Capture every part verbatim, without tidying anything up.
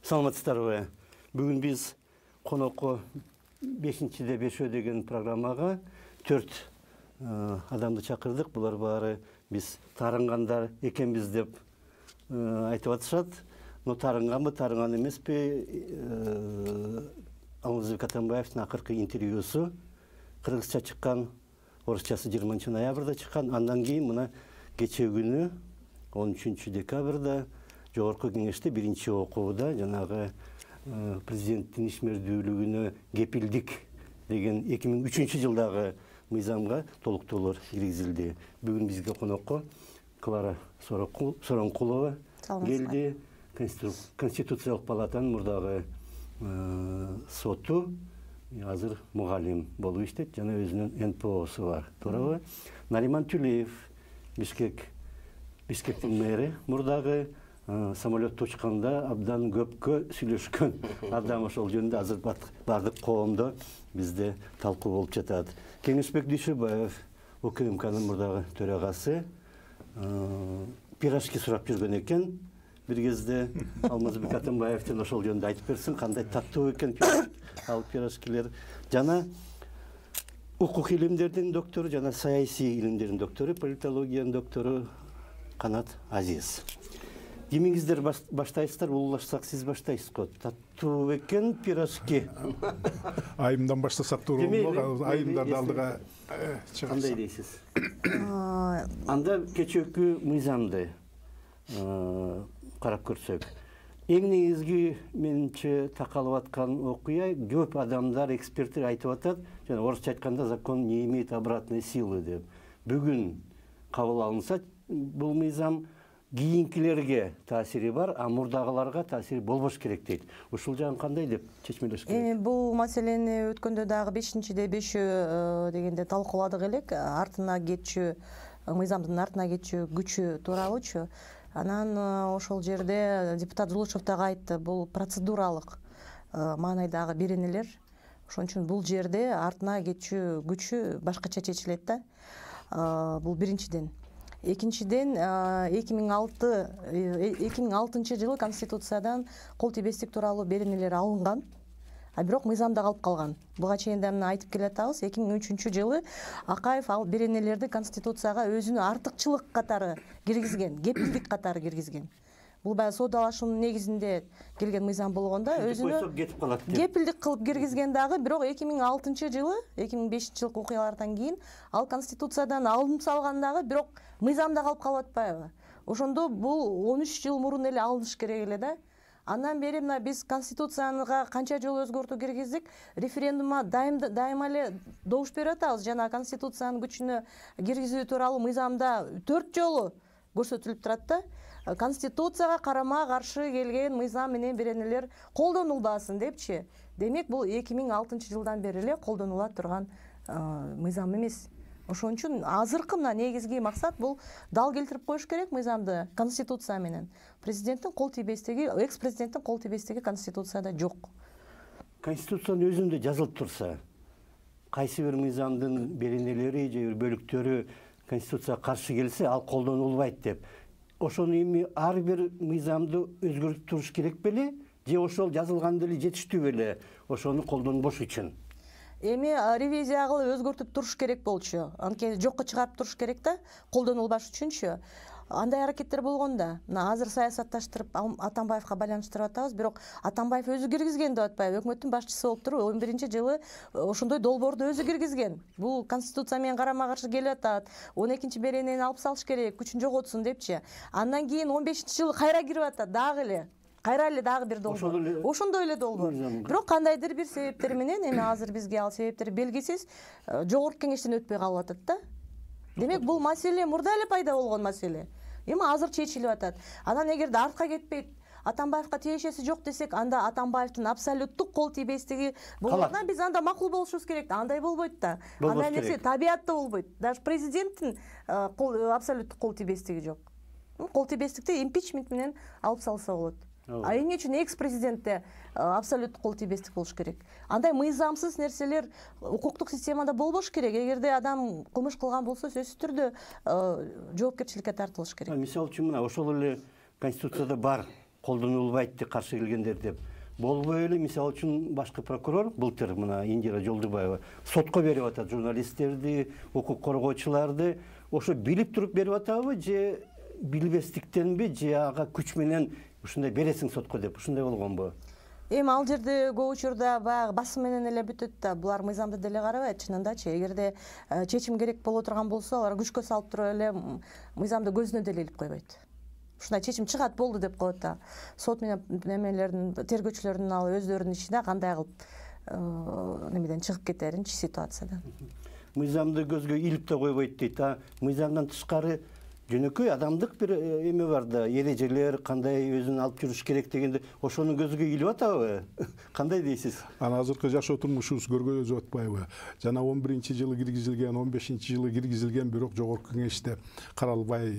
Саламатсыздарбы? Бүгүн биз конокко бешинчиде бешөө деген программага төрт адамды чакырдык. Булар баары биз таарынгандар экенбиз деп айтып атышат. Но таарынганбы, таарынган эмеспи? Алмазбек Атамбаевдин акыркы интервьюсу кыргызча чыккан, орусчасы жыйырманчы ноябрда чыккан. Андан кийин мына кечээ күнү он үчүнчү декабрда Жогорку кеңеште биринчи окууда жанагы президенттин ишмердүүлүгүнө кепилдик деген эки миң үчүнчү жылдагы мыйзамга толуктоолор киргизилди. Бүгүн бизге конокко Клара Соронкулова келди. Конституциялык палатанын мурдагы соту, азыр мугалим болуп иштейт, жана өзүнүн эн пэ осу бар. Туурабы? Нариман Тюлеев, Бишкек Бишкектин мэри, мурдагы самолетто учканда абдан көпкө сүйлөшкөн адам, ошол жөнүндө азыр бардык коомдо бизде талкуу болуп жатат. Кеңешбек Дүйшөбаев, УКМКнын мурдагы төрагасы, пирожки сурап жүргөн экен. Бир кезде Алмазбек Атамбаевдин ошол жөнүндө айтып берсин, кандай таттуу экен ал пирожкилер. Жана укук илимдердин доктору, жана саясий илимдердин доктору, политологиянын доктору Канат Азиз. Кимиңиздер баштайсыздар, улуулашсак сиз баштайсыз го. Таттуу экен пирожки. Айымдан баштасак тууралуу, айымдарды алдыга чыгарсак. Кандай дейсиз? Анда кечээкү мыйзамды карап көрсөк, эң негизги менимче такалып аткан окуя, көп адамдар, эксперттер айтып атат, жана орусча айтканда закон не имеет обратной силы деп. Бүгүн кабыл алынса, бул мыйзам кийинкилерге таасири бар, а мурдагыларга таасири болбош керек дейт. Ушул жагын кандай деп чечмелеш керек? Бул маселени өткөндө дагы бешинчиде бешөө дегенде талкууладык элек. Артына кетчү, мыйзамдын артына кетчү күчү тууралуучу. Анан ошол жерде депутат Жулушев дагы айтты, бул процедуралык маанайдагы беренелер. Ошон үчүн бул жерде артына кетчү күчү башкача чечилет да. Бул биринчиден. Экинчиден, эки миң алтынчы жылы Конституциядан кол тийбестик тууралуу беренелер алынган, а бирок мыйзамда калып калган. Буга чейин да мына айтып келатабыз. эки миң үчүнчү жылы Акаев ал беренелерди Конституцияга өзүнүн артыкчылык катары киргизген, кепилдик катары киргизген. Бул баягы соодалашуунун негизинде келген мыйзам болгондо өзүнө кепилдик кылып киргизген дагы, бирок эки миң алтынчы жылы, эки миң бешинчи жылкы окуялардан кийин ал Конституциядан алынып салган дагы, бирок мыйзамда калып калып атпайбы? Ошондо бул он үч жыл мурун эле алыныш керек эле да. Андан бери мына биз Конституцияга канча жолу өзгөртүү киргиздик, референдумга дайыма эле добуш берип атабыз. Жана Конституциянын күчүнө киргизүү тууралуу мыйзамда төрт жолу көрсөтүлүп турат да. Конституцияга карама каршы келген мыйзам менен беренелер колдонулбасын депчи. Демек бул эки миң алтынчы жылдан бери эле колдонула турган мыйзам эмес. Ошон үчүн азыркы мына негизги максат бул дал келтирип коюш керек мыйзамды Конституция менен. Президенттин кол тийбестиги, экс-президенттин кол тийбестиги Конституцияда жок. Конституциянын өзүндө жазылып турса, кайсы бир мыйзамдын беренелери же бөлүктөрү Конституцияга каршы келсе, ал колдонулбайт деп. Ошону эми ар бир мыйзамды өзгөртүп туруш керек беле, же ошол жазылган деле жетиштүү беле ошону колдонбош үчүн? Эми ревизия кылып өзгөртүп туруш керек болчу. Анткени жокко чыгарып туруш керек да, колдонулбаш үчүнчү. Андай аракеттер болгон да. Мына азыр саясатташтырып Атамбаевга байланыштырып атабыз, бирок Атамбаев өзү киргизген деп атпайбы? Өкмөттүн башчысы болуп туруп он биринчи жылы ошондой долбоорду өзү киргизген. Бул Конституция менен карама каршы келип атат. он экинчи беренени алып салыш керек, күчүн жоготсун депчи. Андан кийин он бешинчи жылы кайра кирип атат дагы эле. Кайра эле дагы бир долбоор. Ошондой эле долбоор. Бирок кандайдыр бир себептер менен, эми азыр бизге ал себептер белгисиз, жогорку кеңештен өтпөй калып атат да. Демек бул маселе мурда эле пайда болгон маселе. Эми азыр чечилип атат. Анан эгерде артка кетпейт, Атамбаевга тиешеси жок десек, анда Атамбаевдин абсолюттук кол тийбестиги болгондо биз анда макул болушубуз керек да. Андай болбойт да. Андай нерсе табиятта болбойт. Даже президенттин абсолюттук кол тийбестиги жок. Кол тийбестикти импичмент менен алып салса болот. А эмне үчүн экс-президентте абсолюттук кол тийбестик болуш керек? Андай мыйзамсыз нерселер укуктук системада болбош керек. Эгерде адам кылмыш кылган болсо, сөзсүз түрдө жоопкерчиликке тартылыш керек. Мисалы үчүн мына ошол эле Конституцияда бар колдонулбайт деп каршы келгендер деп. Болбой эле, мисалы үчүн башкы прокурор былтыр мына Индира Жолдубаева сотко берип атат журналисттерди, укук коргоочуларды. Ошо билип туруп берип атабы же билбестиктенби, же ага күч менен ушундай бересиң сотко деп ушундай болгонбу? Эми ал жерде көп учурда баягы басым менен эле бүтөт да, булар мыйзамды деле карабайт чынындачы. Эгерде чечим керек боло турган болсо, алар күчкө салып туруп эле мыйзамды көзүнө деле илип койбойт. Ушундай чечим чыгат болду деп коет да. Сот менен немелердин, тергөөчүлөрдүн ал өздөрүнүн ичинде кандай кылып немеден чыгып кетеринчи ситуациядан. Мыйзамды көзгө илип да койбойт дейт. А мыйзамдан тышкары жөнөкөй адамдык бир эме бар да, эрежелер кандай өзүн алып жүрүш керек дегенде, ошону көзгө илип атабы? Кандай дейсиз? Ана азыркы жашоо турмушубуз көргөзүп атпайбы? Жана он биринчи жылы киргизилген, он бешинчи жылы киргизилген, бирок жогорку кеңеште каралбай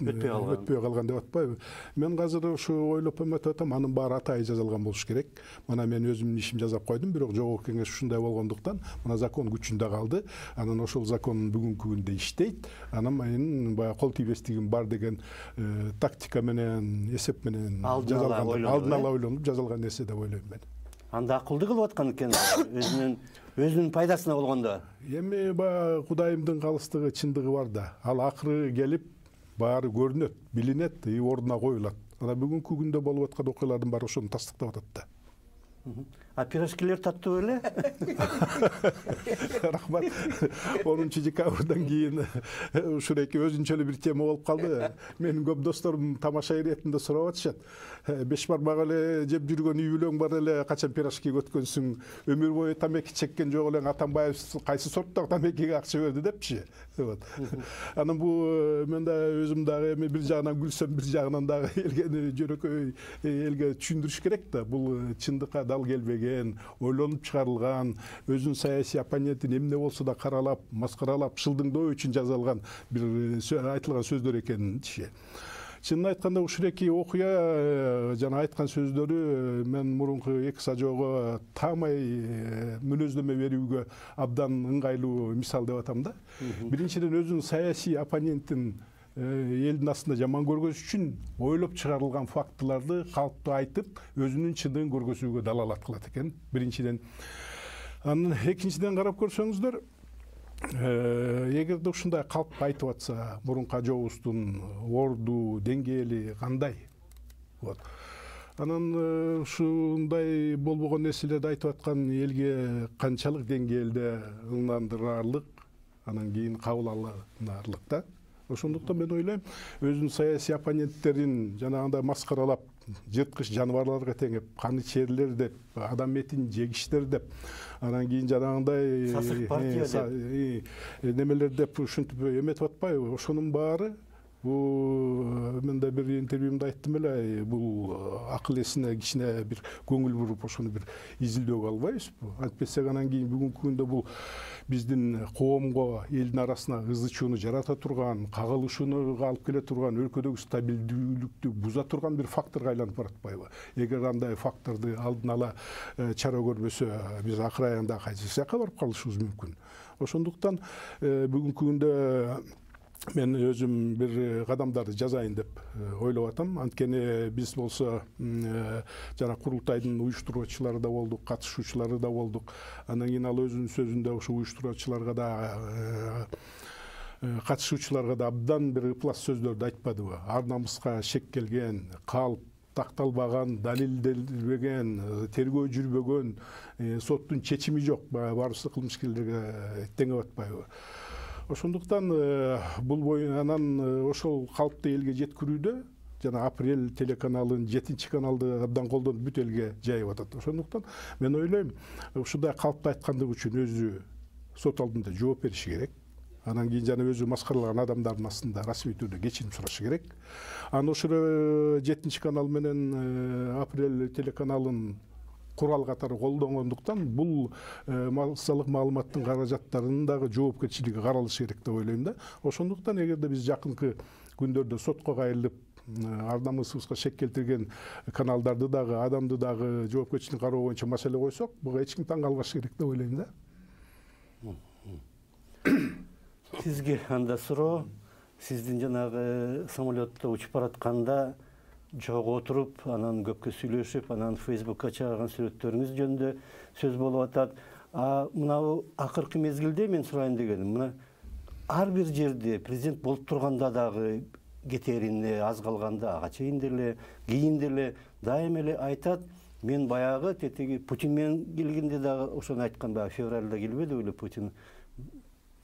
өтпөй калган деп атпайбы? Мен азыр ушу ойлоп эметип атам, анын баары атайы жазалган болуш керек. Мына мен өзүмдүн ишим жасап койдум, бирок жогорку кеңеш ушундай болгондуктан, мына закон күчүндө калды. Анан ошол закон бүгүнкү күндө иштейт. Анан мен баягы кол тийбестигим бар деген тактика менен, эсеп менен жазалган, алдын ала ойлонуп жазалган нерсе деп ойлойм мен. Анда акылдуу кылып аткан экен, өзүнүн өзүнүн пайдасына болгондо. Эми баягы Кудайымдын калыстыгы, чындыгы бар да. Ал акыры келип баары көрүнөт, билинет, и ордуна коюлат. Ана бүгүнкү күндө болуп аткан окуялардын баары ошону тастыктап атат да. А пирожкилер таттуу эле? Рахмат. онунчу декабрдан кийин ушуреки өзүнчө эле бир тема болуп калды. Менин көп досторум тамаша иретинде сурап атышат. Беш бармак эле жеп жүргөн үй бүлөң бар эле, качан пирожкиге өткөнсүң? Өмүр бою тамеки чеккен жок элең, Атамбаев кайсы сорттогу тамекиге акча берди депчи. Вот. Анан бу мен да өзүм дагы эми бир жагынан күлсөм, бир жагынан дагы элге жөнөкөй элге түшүндүрүш керек да. Бул чындыкка дал келбеген, ойлонуп чыгарылган, өзүнүн саясий оппонентин эмне болсо да каралап, маскаралап, шылдыңдоо үчүн жазылган бир айтылган сөздөр экенинчи. Чынын айтканда ушуреки окуя жана айткан сөздөрү мен мурунку эки сажоого таамай мүнөздөмө берүүгө абдан ыңгайлуу мисал деп атам да. Биринчиден өзүнүн саясий оппонентин элдин астында жаман көргөзүш үчүн ойлоп чыгарылган фактыларды калктуу айтып, өзүнүн чындыгын көргөзүүгө далалат кылат экен. Биринчиден. Анан экинчиден карап көрсөңүздөр, эгерде ушундай калп айтып атса, мурунку ажообуздун орду, деңгээли кандай? Вот. Анан ушундай болбогон нерселерди айтып аткан элге канчалык деңгээлде ынандырарлык, анан кийин кабыл алынарлык да. Ошондуктан мен ойлойм, өзүнүн саясий оппоненттерин жанагындай маскаралап, жырткыч жаныбарларга теңеп, каны черлер деп, адам этин жегиштер деп, анан кийин жанагындай сасык партия деп немелер деп ушинтип эметип атпайбы? Ошонун баары бул мен да бир интервьюмда айттым эле, бул акыл эсине кичине бир көңүл буруп, ошону бир изилдөөгө албайбызбы? Антпесек анан кийин бүгүнкү күндө бул биздин коомго, элдин арасына ызы чууну жарата турган, кагылышууну алып келе турган, өлкөдөгү стабилдүүлүктү буза турган бир факторго айланып баратпайбы? Эгер андай факторду алдын ала чара көрбөсө, биз акыр аягында кайсы жакка барып калышыбыз мүмкүн. Ошондуктан бүгүнкү күндө мен өзүм бир кадамдарды жазайын деп ойлоп атам. Анткени биз болсо жана курултайдын уюштуруучулары да болдук, катышуучулары да болдук. Андан кийин ал өзүнүн сөзүндө ошо уюштуруучуларга да, катышуучуларга да абдан бир ыплас сөздөрдү айтпадыбы? Ар намыска шек келген, калп такталбаган, далилделбеген, тергөө жүрбөгөн, соттун чечими жок, баарыбыз кылмышкерлерге теңеп атпайбы? Ошондуктан бул боюнан ошол калпты элге жеткирүүдө жана Апрель телеканалын жетинчи каналды абдан колдонуп бүт элге жайып атат. Ошондуктан мен ойлойм, ушундай калпты айткандыгы үчүн өзү сот алдында жооп бериши керек. Анан кийин жана өзү маскаралаган адамдардын астында расмий түрдө кечирим сурашы керек. Анан ошо жетинчи канал менен Апрель телеканалын курал катары колдонгондуктан бул массалык маалыматтын каражаттарынын дагы жоопкерчилиги каралышы керек деп ойлойм да. Ошондуктан эгерде биз жакынкы күндөрдө сотко кайрылып, ар намысыбызга шек келтирген каналдарды дагы, адамды дагы жоопкерчиликке кароо боюнча маселе койсок, буга эч ким таң калбашы керек деп ойлойм да. Сизге анда суроо, сиздин жанагы самолетто учуп баратканда жого отуруп, анан көпкө сүйлөшүп, анан Фейсбукка чыгарган сүрөттөрүңүз жөнүндө сөз болуп атат. А мына акыркы мезгилде мен сурайын дегеним, мына ар бир жерде президент болуп турганда дагы кетерине аз калганда ага чейин деле, кийин деле дайыма эле айтат, мен баягы тетиги Путин менен келгенде дагы ошону айткан, баягы февралда келбеди беле Путин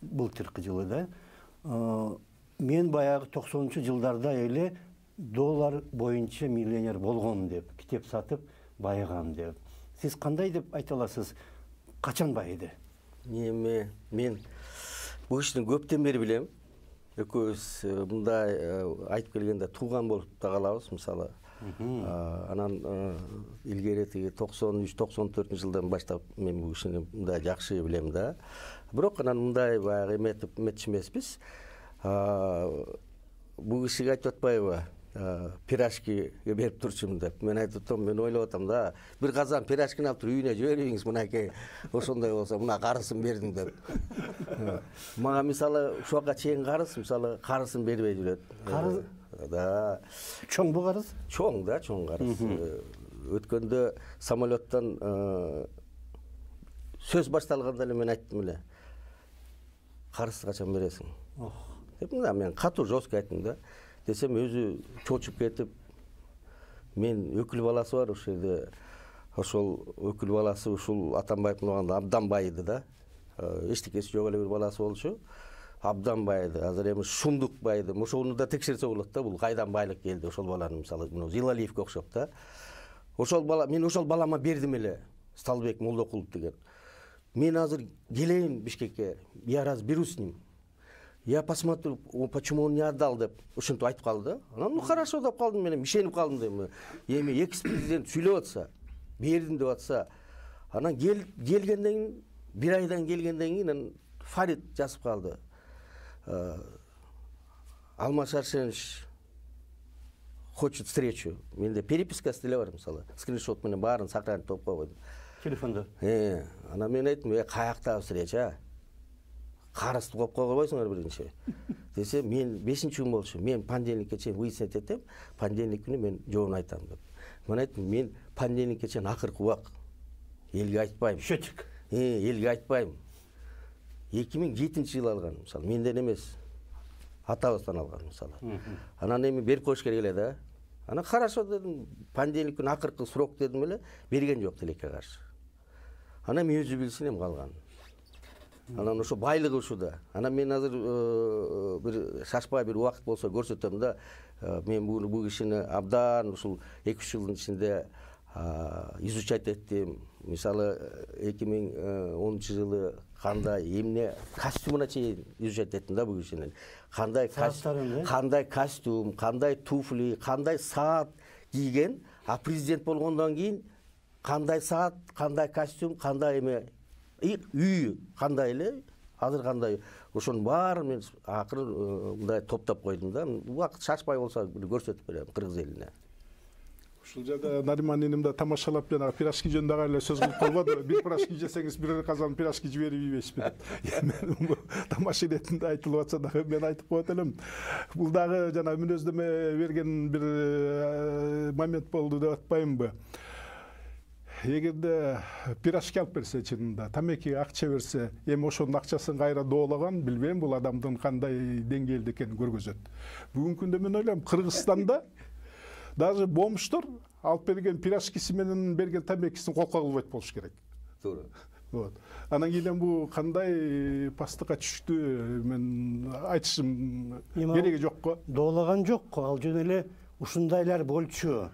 былтыркы жылы да. Мен баягы токсонунчу жылдарда эле доллар боюнча миллионер болгон деп, китеп сатып байыгам деп. Сиз кандай деп айта аласыз? Качан байыды? Эми мен бул кишини көптөн бери билем. Экөөбүз мындай айтып келгенде тууган болуп да калабыз, мисалы. Анан илгери тиги токсон үч токсон төртүнчү жылдан баштап мен бул кишини мындай жакшы билем да. Бирок анан мындай баягы эметип эметчү эмеспиз. Бул кишиге айтып атпайбы? Пирожкиге берип турчумун деп. Мен айтып атам, мен ойлоп атам да, бир казан пирожкини алып туруп үйүнө жибериңиз, мынакей, ошондой болсо, мына карысын бердим деп. Мага мисалы ушуга чейин карыз, мисалы карысын бербей жүрөт. Карыз? Да. Чоң бу карыз? Чоң да, чоң карыз. Өткөндө самолеттон сөз башталганда эле мен айттым эле. Карызды качан бересиң? Деп мына мен катуу жестко айттым да. Десем өзү чочуп кетип, мен өкүл баласы бар ошол жерде, ошол өкүл баласы ушул Атамбаевдин убагында абдан байыды да. Эчтекеси жок эле бир баласы болчу. Абдан байыды. Азыр эми шумдук байыды. Ошону да текшерсе болот да, бул кайдан байлык келди ошол баланын, мисалы, Зилалиевге окшоп да. Ошол бала, мен ошол балама бердим эле, Сталбек Молдокулов деген. Мен азыр келейин Бишкекке, я разберусь с ним. Я посмотрю, почему он не отдал деп, ушинтип айтып калды да. Анан ну хорошо деп калдым мен, ишенип калдым дейм. Эми экс-президент сүйлөп атса, бердим деп атса, анан келгенден кийин, бир айдан келгенден кийин Фарид жазып калды. Алмаз Арсенович хочет встречу. Менде перепискасы деле бар, мисалы. Скриншот менен баарын сохранить койдум. Телефондо. Э, анан мен айттым, "Э, каяктагы встреча? Карызды коюп койбойсуңар биринчи." Десе, мен бешинчи күн болчу. Мен понедельникке чейин выяснять этем, понедельник күнү мен жообун айтам деп. Мен айттым, мен понедельникке чейин акыркы убак элге айтпайм. Счетчик. Э, элге айтпайм. эки миң жетинчи жылы алган, мисалы, менден эмес. Атабыздан алган, мисалы. Анан эми берип коюш керек эле да. Анан хорошо дедим, понедельник күнү акыркы срок дедим эле, берген жок тилекке каршы. Анан мен өзү билсин эми калган. Анан ошо байлыгы ушуда. Анан мен азыр бир шашпай бир убакыт болсо көрсөтөм да, мен бул бул кишини абдан ушул эки үч жылдын ичинде изучать эттим. Мисалы, эки миң онунчу жылы кандай эмне костюмуна чейин изучать эттим да бул кишинин. Кандай кандай костюм, кандай туфли, кандай саат кийген, а президент болгондон кийин кандай саат, кандай костюм, кандай эме үй кандай эле, азыр кандай, ошонун баарын мен акыры мындай топтоп койдум да. Убакыт шашпай болсо көрсөтүп берем кыргыз элине. Ушул жерде Нариман эним да тамашалап жана пирожки жөнүндө ага эле сөз кылып калбады. Бир пирожки жесеңиз бир казан пирожки жиберип ийбейсизби деп. Мен тамаша иретинде айтылып атса дагы мен айтып коет элем. Бул дагы жана мүнөздөмө берген бир момент болду деп атпаймынбы? Эгерде пирожки алып берсе, чынында тамекиге акча берсе, эми ошонун акчасын кайра доолаган, билбейм, бул адамдын кандай деңгээлде экенин көргөзөт. Бүгүнкү күндө мен ойлойм, Кыргызстанда даже бомждор алып берген пирожкиси менен берген тамекисин колко кылбайт болуш керек. Туура. Вот. Анан кийин бул кандай пастыкка түштү, мен айтышым кереги жок го. Доолаган жок го, ал жөн эле ушундайлар болчу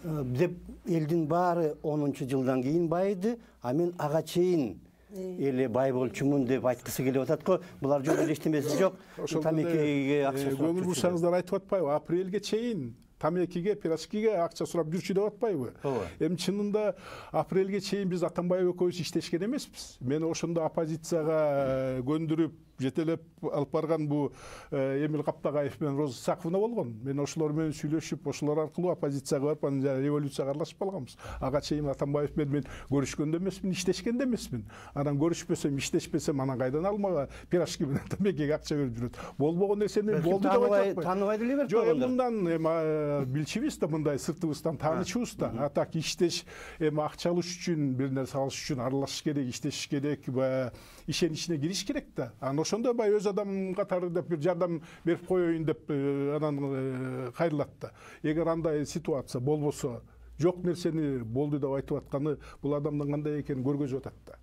деп элдин баары онунчу жылдан кийин байыды, а мен ага чейин эле бай болчумун деп айткысы келип атат го. Булар жөн эле эчтемеси жок. Тамекиге акча сурап. Көңүл бурсаңыздар айтып атпайбы? Апрелге чейин тамекиге, пирожкиге акча сурап жүрчү деп атпайбы? Эми чынында апрелге чейин биз Атамбаев экөөбүз иштешкен эмеспиз. Мени ошондо оппозицияга көндүрүп, жетелеп алып барган бу Эмил Каптагаев менен Роза Саковна болгон. Мен ошолор менен сүйлөшүп, ошолор аркылуу оппозицияга барып, анан революцияга аралашып калганбыз. Ага чейин Атамбаев менен мен көрүшкөн эмесмин, иштешкен эмесмин. Анан көрүшпөсөм, иштешпесем, анан кайдан алмага пирожки менен тамекиге акча берип жүрөт. Болбогон нерсени болду деп айтып атпайм. Тааныбай деле берип койгондор. Жок, мындан да билчүбүз да, мындай сыртыбыздан таанычыбыз да. А так иштеш, эми акча алыш үчүн, бир нерсе алыш үчүн аралашыш керек, иштешиш керек, баягы ишенин ичине кириш керек да. Анан ошондо баягы өз адам катары деп бир жардам берип коеюн деп анан кайрылат да. Эгер андай ситуация болбосо, жок нерсени болду деп айтып атканы бул адамдын кандай экенин көргөзүп атат да.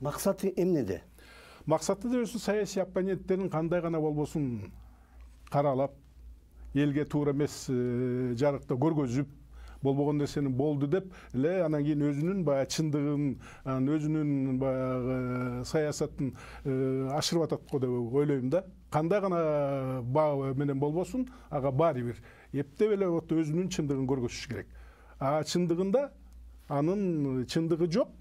Максаты эмнеде? Максаты да өзү саясий оппоненттерин кандай гана болбосун каралап, элге туура эмес жарыкта көргөзүп, болбогон нерсени болду деп эле анан кийин өзүнүн баягы чындыгын, өзүнүн баягы саясатын ашырып атат го деп ойлойм да. Кандай гана баа менен болбосун, ага баары бир эптеп эле өзүнүн чындыгын көргөзүш керек. А чындыгында анын чындыгы жок.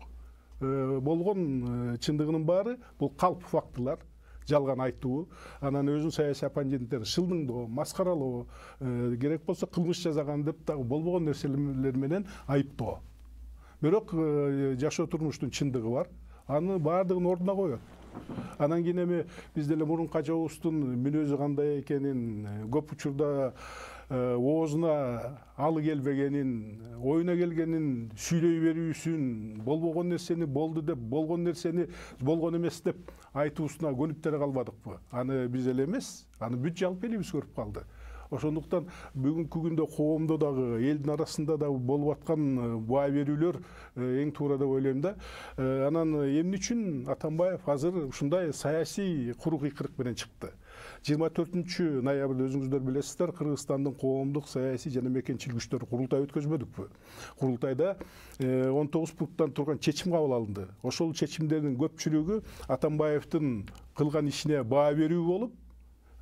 Болгон чындыгынын баары бул калп фактылар, жалган айтуу, анан өзүн саясий оппоненттер шылдыңдоо, маскаралоо, керек болсо кылмыш жасаган деп дагы болбогон нерселер менен айыптоо. Бирок жашоо турмуштун чындыгы бар, аны баардыгын ордуна коет. Анан кийин эми биз деле мурунку ажабыбыздын мүнөзү кандай экенин, көп учурда оозуна алы келбегенин, оюна келгенин сүйлөй берүүсүн, болбогон нерсени болду деп, болгон нерсени болгон эмес деп айтуусуна көнүп деле калбадыкпы? Аны биз эле эмес, аны бүт жалпы элибиз көрүп калды. Ошондуктан бүгүнкү күндө коомдо дагы, элдин арасында дагы болуп аткан баа берүүлөр эң туура деп ойлойм да. Анан эмне үчүн Атамбаев азыр ушундай саясий куру кыйкырык менен чыкты? жыйырма төртүнчү ноябрда өзүңүздөр билесиздер, Кыргызстандын коомдук, саясий жана мекенчил күчтөр курултай өткөзбөдүкпү? Курултайда он тогуз пункттан турган чечим кабыл алынды. Ошол чечимдердин көпчүлүгү Атамбаевдин кылган ишине баа берүү болуп,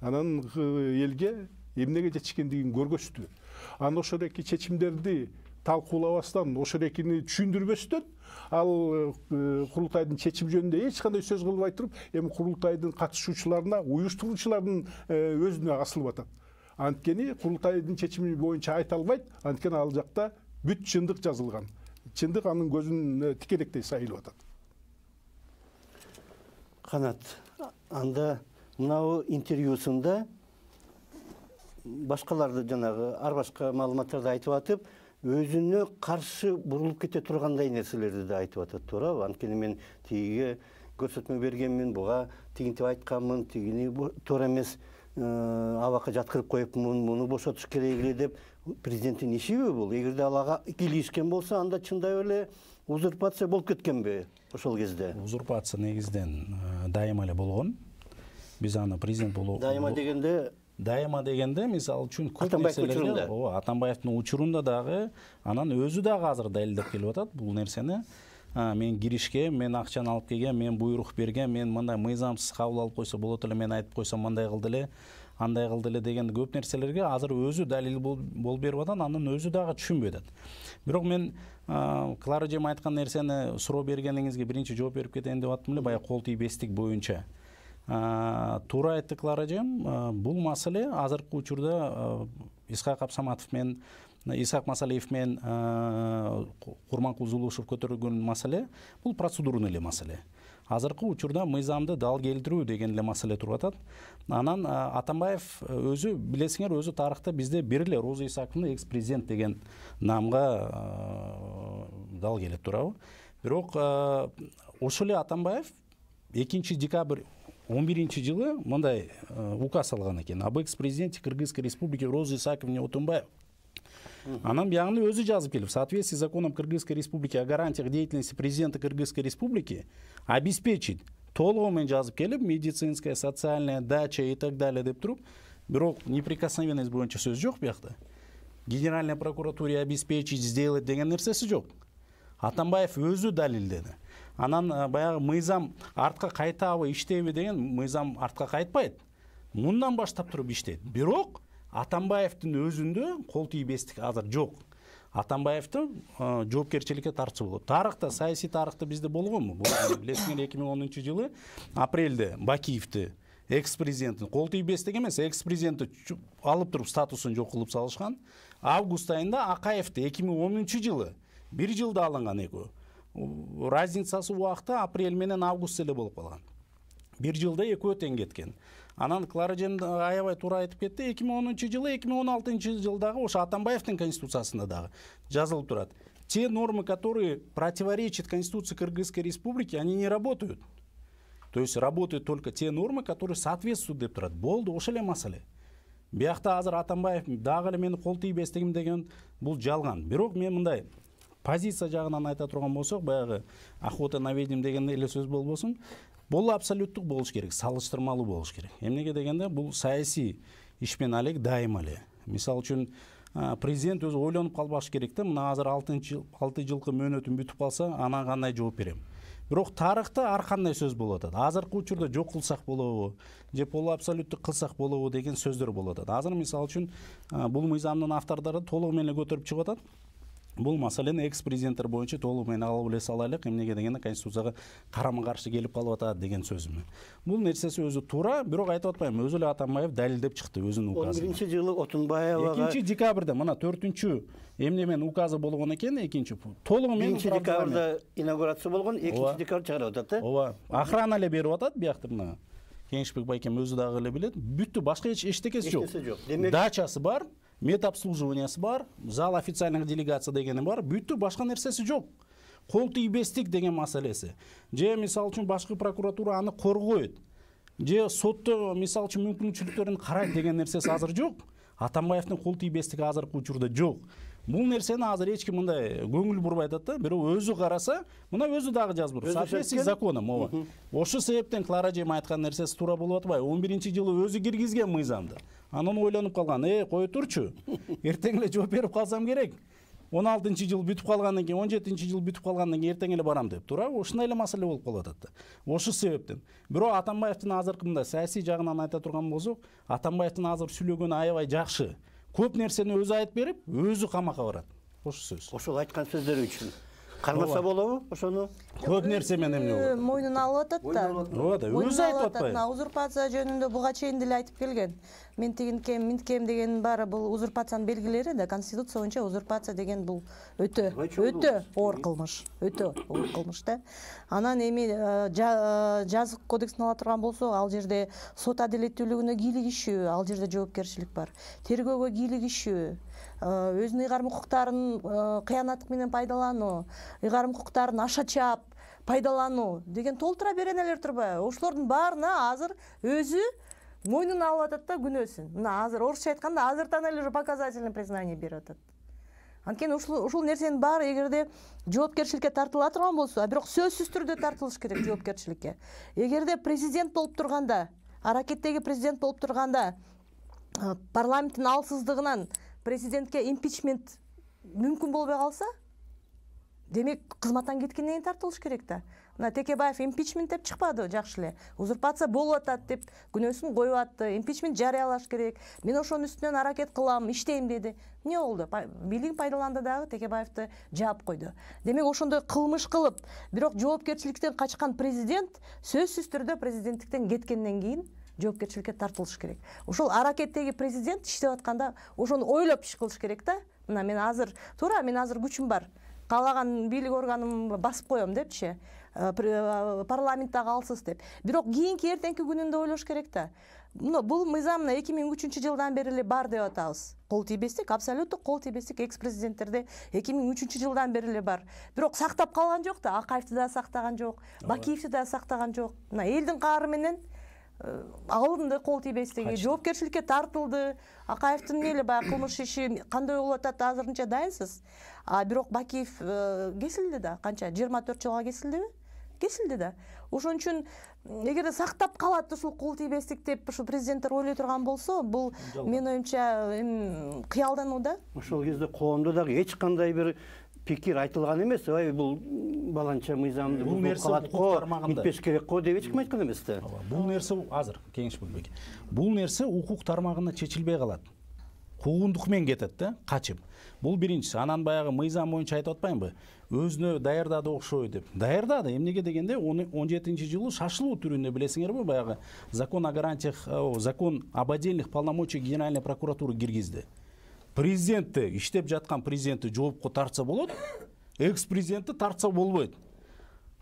анан элге эмнеге жетишкендигин көргөздү. Анан ошол эки чечимдерди талкуулабастан, ошол экини түшүндүрбөстөн, ал курултайдын чечими жөнүндө эч кандай сөз кылбай туруп, эми курултайдын катышуучуларына, уюштуруучулардын өзүнө асылып атат. Анткени курултайдын чечими боюнча айта албайт, анткени ал жакта бүт чындык жазылган. Чындык анын көзүнө тикелектей сайылып атат. Канат, анда мынау интервьюсунда башкаларды жанагы ар башка маалыматтарды айтып атып, өзүнө каршы бурулуп кете тургандай нерселерди да айтып атат, туурабы? Анткени мен тигиге көрсөтмө бергенмин, буга тигинтип айтканмын, тигини туура эмес, абакка жаткырып коюпмун, муну бошотуш керек эле деп. Президенттин ишиби бул? Эгерде ал ага кийлигишкен болсо, анда чындап эле узурпация болуп кеткенби ошол кезде? Узурпация негизден дайыма эле болгон. Биз аны президент болуу. Дайыма дегенде Дайыма дегенде, мисалы үчүн көп нерселерге, ооба, Атамбаевдин учурунда дагы, анан өзү дагы азыр далилдеп келип атат бул нерсени. Мен киришке, мен акчаны алып келгем, мен буйрук бергем, мен мындай мыйзамсыз кабыл алып койсо болот эле, мен айтып койсом мындай кылды эле, андай кылды эле деген көп нерселерге азыр өзү далил болуп берип атат, анын өзү дагы түшүнбөй атат. Бирок мен Клара эжем айткан нерсени суроо бергениңизге биринчи жооп берип кетейин деп аттым эле, баягы кол тийбестик боюнча. Туура айтты Клара эжем, бул маселе азыркы учурда Исхак Абсаматов менен, Исхак Масалиев менен Курманкул Зулушев көтөргөн маселе, бул процедурный эле маселе. Азыркы учурда мыйзамды дал келтирүү деген эле маселе туруп атат. Анан Атамбаев өзү, билесиңер, өзү тарыхта бизде бир эле Роза Исаковна экс-президент деген намга дал келет, туурабы? Бирок ошол эле Атамбаев экинчи декабрь он биринчи жылы мындай указ алган экен. Об экс-президенте Кыргызской республики Роза Исаковне Отунбаев. Анан биягында өзү жазып келип, в соответствии с законом Кыргызской республики о гарантиях деятельности президента Кыргызской республики обеспечить толугу менен жазып келип, медицинская, социальная, дача и так далее деп туруп, бирок неприкосновенность боюнча сөз жок биякта. Генеральной прокуратуре обеспечить, сделать деген нерсеси жок. Атамбаев өзү далилдеди. Анан баягы мыйзам артка кайтабы, иштейби деген, мыйзам артка кайтпайт. Мындан баштап туруп иштейт. Бирок Атамбаевдин өзүндө кол тийбестик азыр жок. Атамбаевди жоопкерчиликке тартса болот. Тарыхта, саясий тарыхта бизде болгонму? Билесиңер, эки миң онунчу жылы апрелде Бакиевди, экс-президенттин кол тийбестик эмес, экс-президентти алып туруп статусун жок кылып салышкан. Август айында Акаевди эки миң онунчу жылы бир жылда алынган экөө. Разницасы убакта апрель менен август эле болуп калган. бир жылда экөө тең кеткен. Анан Клара эжем аябай туура айтып кетти. эки миң онунчу жылы, эки миң он алтынчы жылдагы ошо Атамбаевдин конституциясында дагы жазылып турат. Те нормы, которые противоречат Конституции Кыргызской Республики, они не работают. То есть работают только те нормы, которые соответствуют деп турат. Болду, ошол эле маселе. Биякта азыр Атамбаев дагы эле мени кол тийбестигим деген бул жалган. Бирок мен мындай позиция жагынан айта турган болсок, баягы охота на ведьм деген эле сөз болбосун, бул абсолюттук болуш керек, салыштырмалуу болуш керек. Эмнеге дегенде бул саясий ишмен алек дайыма эле. Мисалы үчүн президент өзү ойлонуп калбаш керек да, мына азыр алты жылкы мөөнөтүм бүтүп калса, анан кандай жооп берем. Бирок тарыхта ар кандай сөз болуп атат. Азыркы учурда жок кылсак болобу, же полу абсолюттук кылсак болобу деген сөздөр болуп атат. Азыр мисалы үчүн бул мыйзамдын автордору толугу менен көтөрүп чыгып атат. Бул маселени экс-президенттер боюнча толугу менен алып эле салайлык, эмнеге дегенде Конституцияга карама-каршы келип калып атат деген сөзүм. Бул нерсеси өзү туура, бирок айтып атпайм, өзү эле Атамбаев далилдеп чыкты өзүнүн указын. он биринчи жылы Отунбаевага экинчи декабрда мына төртүнчү эмне менен указы болгон экен, экинчи толугу менен биринчи декабрда инаугурация болгон, экинчи декабрда чыгарып атат, э? Ооба, охрана эле берип атат биякта мына. Кеңешбек байкем өзү дагы эле билет. Бүттү, башка эч эчтекеси жок. Дачасы бар, медобслуживаниясы бар, зал официальных делегация дегени бар, бүттү, башка нерсеси жок. Кол тийбестик деген маселеси. Же мисалы үчүн башкы прокуратура аны коргойт. Же сотто мисалы үчүн мүмкүнчүлүктөрүн карайт деген нерсеси азыр жок. Атамбаевдин кол тийбестиги азыркы учурда жок. Бул нерсени азыр эч ким мындай көңүл бурбай атат да, бирок өзү караса, мына өзү дагы жазып тур. Соответствии с законом, ооба. Ошол себептен Клара эжем айткан нерсеси туура болуп атпайбы? он биринчи жылы өзү киргизген мыйзамды. Анан ойлонуп калган, э, кое турчу. Эртең эле жооп берип калсам керек. он алтынчы жыл бүтүп калгандан кийин, он жетинчи жыл бүтүп калгандан кийин эртең эле барам деп туура. Ошондой эле маселе болуп калып атат да. Ошол себептен. Бирок Атамбаевдин азыркы мындай саясий жагынан айта турган болсок, Атамбаевдин азыр сүйлөгөнү аябай жакшы. Көп нерсени өзү айтып берип, өзү камакка барат. Ошол сөз. Ошол айткан сөздөрү үчүн кармаса болобу ошону? Көп нерсе менен эмне болот? Мойнуна алып атат да. Ооба да, өзү айтып атпайбы? Узурпация жөнүндө буга чейин деле айтып келген. Мен тигинкем, минткем дегенин баары бул узурпациянын белгилери да. Конституция боюнча узурпация деген бул өтө өтө оор кылмыш, өтө оор кылмыш да. Анан эми жазык кодексин ала турган болсок, ал жерде сот адилеттүүлүгүнө кийлигишүү, ал жерде жоопкерчилик бар. Тергөөгө кийлигишүү, өзүнүн ыйгарым укуктарын кыянаттык менен пайдалануу, ыйгарым укуктарын аша чаап пайдалануу деген толтура беренелер турбайбы? Ошолордун баарына азыр өзү мойнуна алып атат да күнөөсүн. Мына азыр орусча айтканда азыртан эле уже показательный признание берип атат. Анткени ушул ушул нерсенин баары эгерде жоопкерчиликке тартыла турган болсо, бирок сөзсүз түрдө тартылыш керек жоопкерчиликке. Эгерде президент болуп турганда, аракеттеги президент болуп турганда парламенттин алсыздыгынан президентке импичмент мүмкүн болбой калса, демек кызматтан кеткенден кийин тартылыш керек да. Мына Текебаев импичмент деп чыкпады, жакшы эле. Узурпация болуп атат деп күнөөсүн коюп атты. Импичмент жарыялаш керек. Мен ошонун үстүнөн аракет кылам, иштейм деди. Эмне болду? Бийлигин пайдаланды дагы Текебаевди жаап койду. Демек ошондой кылмыш кылып, бирок жоопкерчиликтен качкан президент сөзсүз түрдө президенттиктен кеткенден кийин жоопкерчиликке тартылыш керек. Ошол аракеттеги президент иштеп атканда ошону ойлоп иш кылыш керек да. Мына мен азыр туура, мен азыр күчүм бар. Каалаган бийлик органын басып коем депчи, парламенттагы алсыз деп. Бирок кийинки эртеңки күнүндө ойлош керек да. Бул мыйзам эки миң үчүнчү жылдан бери эле бар деп атабыз. Кол тийбестик, абсолюттук кол тийбестик экс-президенттерде эки миң үчүнчү жылдан бери эле бар. Бирок сактап калган жок да, Акаевди да сактаган жок, Бакиевди да сактаган жок. Мына элдин каары менен алынды кол тийбестиги, жоопкерчиликке тартылды. Акаевдин эле баягы кылмыш иши кандай болуп атат азырынча дайынсыз. А бирок Бакиев кесилди да, канча жыйырма төрт жылга кесилдиби? Кесилди да. Ошон үчүн эгерде сактап калат ушул кол тийбестик деп ушу президенттер ойлой турган болсо, бул менин оюмча кыялдануу да. Ошол кезде коомдо дагы эч кандай бир пикир айтылган эмес. Ай бул баланча мыйзамды бул нерсе бүтпеш керек го деп эч ким айткан эмес да. Бул нерсе азыр Кеңешбек байке. Бул нерсе укук тармагында чечилбей калат. Куугундук менен кетет да, качып. Бул биринчиси. Анан баягы мыйзам боюнча айтып атпаймынбы? Өзүнө даярдады окшойт деп. Даярдады. Эмнеге дегенде он жетинчи жылы шашылуу түрүндө билесиңерби, баягы закон о гарантиях, закон об отдельных полномочиях Генеральной прокуратуры киргизди. Президентти, иштеп жаткан президентти жоопко тартса болот, экс-президентти тартса болбойт.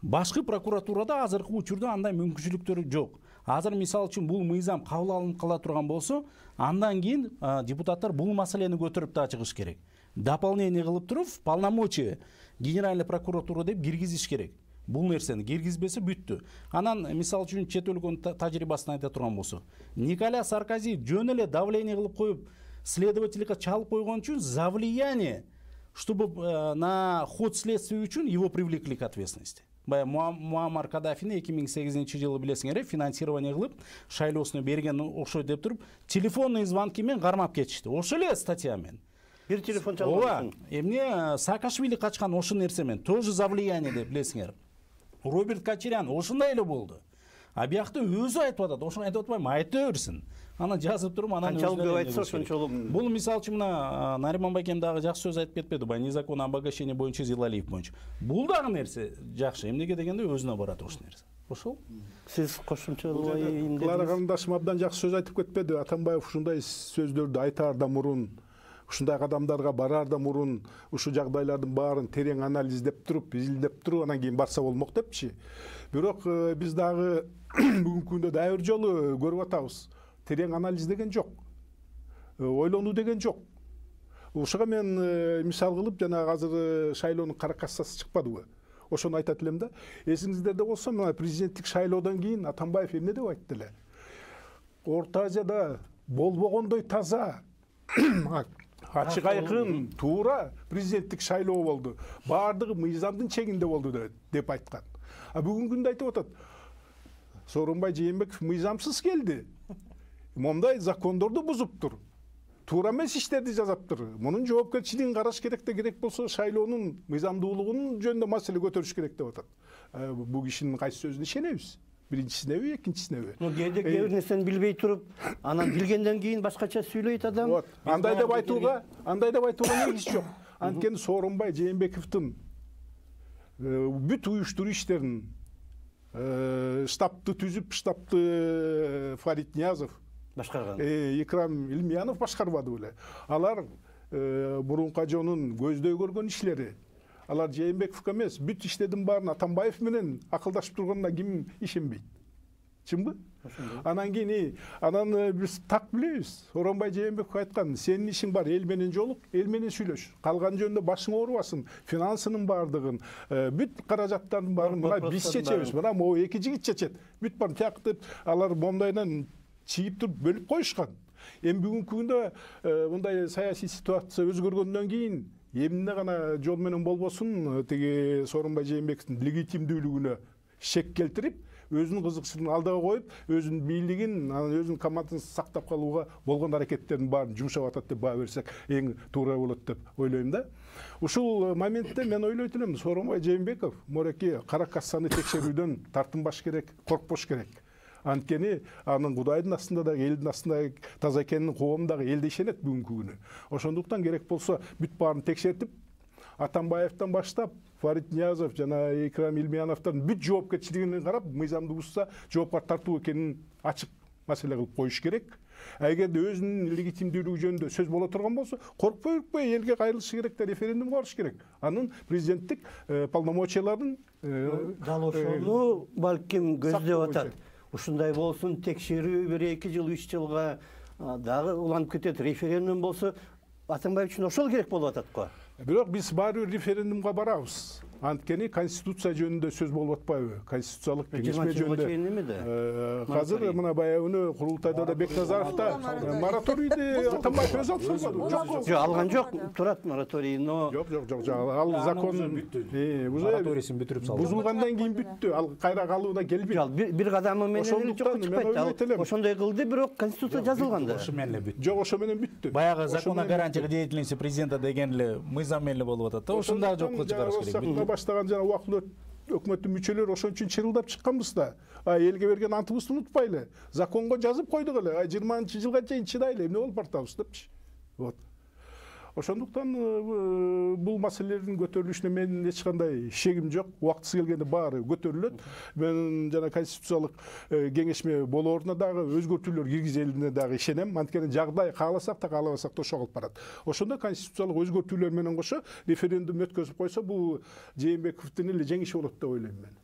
Башкы прокуратурада азыркы учурда андай мүмкүнчүлүктөр жок. Азыр мисалы үчүн бул мыйзам кабыл алынып кала турган болсо, андан кийин депутаттар бул маселени көтөрүп да чыгыш керек. Дополнение кылып туруп, полномочия генеральный прокуратура деп киргизиш керек. Бул нерсени киргизбесе бүттү. Анан мисалы үчүн чет өлкөнүн тажрыйбасын айта турган болсо, Николя Саркози жөн эле давление кылып коюп, следовательге чалып койгон үчүн за влияние, чтобы на ход следствия үчүн его привлекли к ответственности. Бая Муаммар Каддафини эки миң сегизинчи жылы билесиңер, финансирование кылып, шайлоосуна берген окшойт деп туруп, телефонный звонки менен кармап кетишти. Ошол эле статья менен. Бир телефон чалган. Эмне Саакашвили качкан ошол нерсе менен, тоже за влияние деп билесиңер. Роберт Кочарян ошондой эле болду. А биякта өзү айтып атат, ошону айтып атпайм, айта берсин. Анан жазып туруп, анан канчалык көп айтса ошончолук. Бул мисалы үчүн мына Нариман Байкем дагы жакшы сөз айтып кетпеди, бай незаконное обогащение боюнча Зилалиев боюнча. Бул дагы нерсе жакшы. Эмнеге дегенде өзүнө барат ошол нерсе. Ошол. Сиз кошумчалай эмне? Клара карындашым абдан жакшы сөз айтып кетпеди. Атамбаев ушундай сөздөрдү айтаарда мурун, ушундай кадамдарга бараарда мурун ушул жагдайлардын баарын терең анализдеп туруп, изилдеп туруп, анан кийин барса болмок депчи. Бирок биз дагы бүгүнкү күндө дагы бир жолу көрүп атабыз. Терең анализ деген жок. Ойлонуу деген жок. Ушуга мен мисал кылып, жана азыр шайлоонун кара кассасы чыкпадыбы? Ошону айтат элем да. Эсиңиздерде болсо, мына президенттик шайлоодон кийин Атамбаев эмне деп айтты эле? Орто Азияда болбогондой таза, ачык айкын, туура президенттик шайлоо болду. Баардыгы мыйзамдын чегинде болду деп айткан. А бүгүнкү күндө айтып атат. Сооронбай Жээнбеков мыйзамсыз келди. Момдай закондорду бузуптур. Туура эмес иштерди жазаптыр. Мунун жоопкерчилигин караш керек да, керек болсо шайлоонун мыйзамдуулугунун жөнүндө маселе көтөрүш керек деп атат. Бул кишинин кайсы сөзүнө ишенебиз? Биринчисинеби, экинчисинеби? Ну, кээде кээ бир нерсени билбей туруп, анан билгенден кийин башкача сүйлөйт адам. Вот. Андай деп айтууга, андай деп айтууга негиз жок. Анткени Сооронбай Жээнбековдун бүт уюштуруу иштерин штабты түзүп, штабты Фарид Ниязов башкарган. Икрам Илмиянов башкарбады беле. Алар мурун кажонун көздөй көргөн ишлери. Алар Жээнбековго эмес, бүт иштердин баарын Атамбаев менен акылдашып турганына ким ишенбейт? Чынбы? Анан кийин анан биз так билебиз. Сооронбай Жээнбеков айткан, сенин ишиң бар, эл менен жолук, эл менен сүйлөш. Калган жөнүндө башың оорубасын, финансынын баардыгын, бүт каражаттардын баарын мына биз чечебиз. Мына могу эки жигит чечет. Бүт баарын тияктып, алар мондайдан чийип туруп бөлүп коюшкан. Эми бүгүнкү күндө мындай саясий ситуация өзгөргөндөн кийин эмне гана жол менен болбосун, тиги Сооронбай Жээнбековдун легитимдүүлүгүнө шек келтирип, өзүнүн кызыкчылыгын алдыга коюп, өзүнүн бийлигин, анан өзүнүн командасын сактап калууга болгон аракеттердин баарын жумшап атат деп баа берсек эң туура болот деп ойлойм да. Ушул моментте мен ойлойт элем, Сооронбай Жээнбеков мореки кара кассаны текшерүүдөн тартынбаш керек, коркпош керек. Анткени анын Кудайдын астында да, элдин астында таза экенин коомдагы эл да ишенет бүгүнкү күнү. Ошондуктан керек болсо бүт баарын текшертип, Атамбаевтан баштап Фарид Ниязов жана Икрам Илмияновдун бүт жоопкерчилигин карап, мыйзамды бузса жоопка тартуу экенин ачык маселе кылып коюш керек. Эгерде өзүнүн легитимдүүлүгү жөнүндө сөз боло турган болсо, коркпой үркпөй элге кайрылышы керек да, референдумга барыш керек. Анын президенттик полномочияларын дал ошону балким көздөп атат. Ушундай болсун, текшерүү бир эки жыл, үч жылга дагы уланып кетет. Референдум болсо, Атамбаев үчүн ошол керек болуп атат го. Бирок биз баары бир референдумга барабыз. Анткени конституция жөнүндө сөз болуп атпайбы? Конституциялык кеңешме жөнүндө. Азыр мына баягы курултайда да Бекназаров да мораторийди Атамбаев өзү алып салбадыбы? Жок, алган жок. Турат мораторий, но жок, жок, жок, ал закон мораторийсин бүтүрүп салды. Бузулгандан кийин бүттү. Ал кайра калууна келбейт. Бир кадамы менен эле жок чыкпайт. Ошондой кылды, бирок конституция жазылган да. Ошо менен эле бүттү. Жок, ошо менен бүттү. Баягы закон о гарантии деятельности президента деген эле мыйзам менен эле болуп атат да. Ошондой жокко чыгарыш керек. Баштаган жана убактылуу өкмөттүн мүчөлөрү ошон үчүн чырылдап чыкканбыз да. Элге берген антыбызды унутпайлы. Законго жазып койдук эле. жыйырманчы жылга чейин чыдайлы, эмне болуп бартабыз депчи. Вот. Ошондуктан бул маселелердин көтөрүлүшүнө менин эч кандай шегим жок. Убактысы келгенде баары көтөрүлөт. Мен жана конституциялык кеңешме болооруна дагы өзгөртүүлөр киргизилине дагы ишенем. Анткени жагдай кааласак да, каалабасак да ошо калып барат. Ошондо конституциялык өзгөртүүлөр менен кошо референдум өткөзүп койсо, бул Жээнбековдун эле жеңиши болот деп ойлойм мен.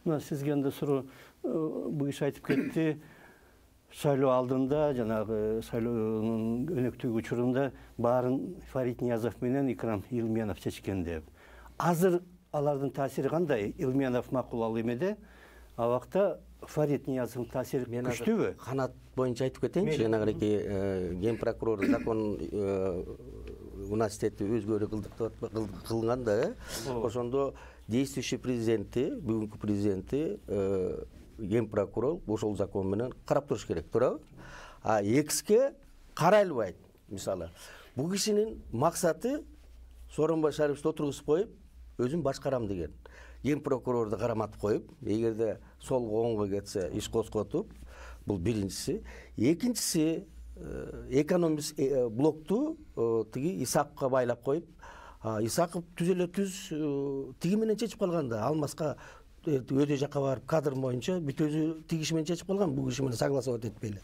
мына сизге анда суроо, бул киши айтып кетти, шайлоо алдында жанагы шайлоонун өнөктүк учурунда баарын Фарид Ниязов менен Икрам Илмиянов чечкен деп. Азыр алардын таасири кандай? Илмиянов макул ал эмеде, абакта Фарид Ниязовдун таасири күчтүүбү? Канат боюнча айтып кетейинчи. Жанагы ген прокурор закон университети өзгөрүү кылганда, ошондо действующий президенти, бүгүнкү президенти ген прокурор ошол закон менен карап туруш керек, туурабы? А экске карай албайт. Мисалы, бул кишинин максаты Сооронбай Шариповичти отургузуп коюп, өзүм башкарам деген. Ген прокурорду караматып коюп, эгерде солго оңго кетсе иш козготуп, бул биринчиси. Экинчиси, экономист блокту тиги Исаковго байлап коюп, Исаков түз эле түз тиги менен чечип калган да, Алмазга өйдө жакка барып кадр боюнча бүт өзү тиги киши менен чечип калган, бул киши менен согласовать этпей эле.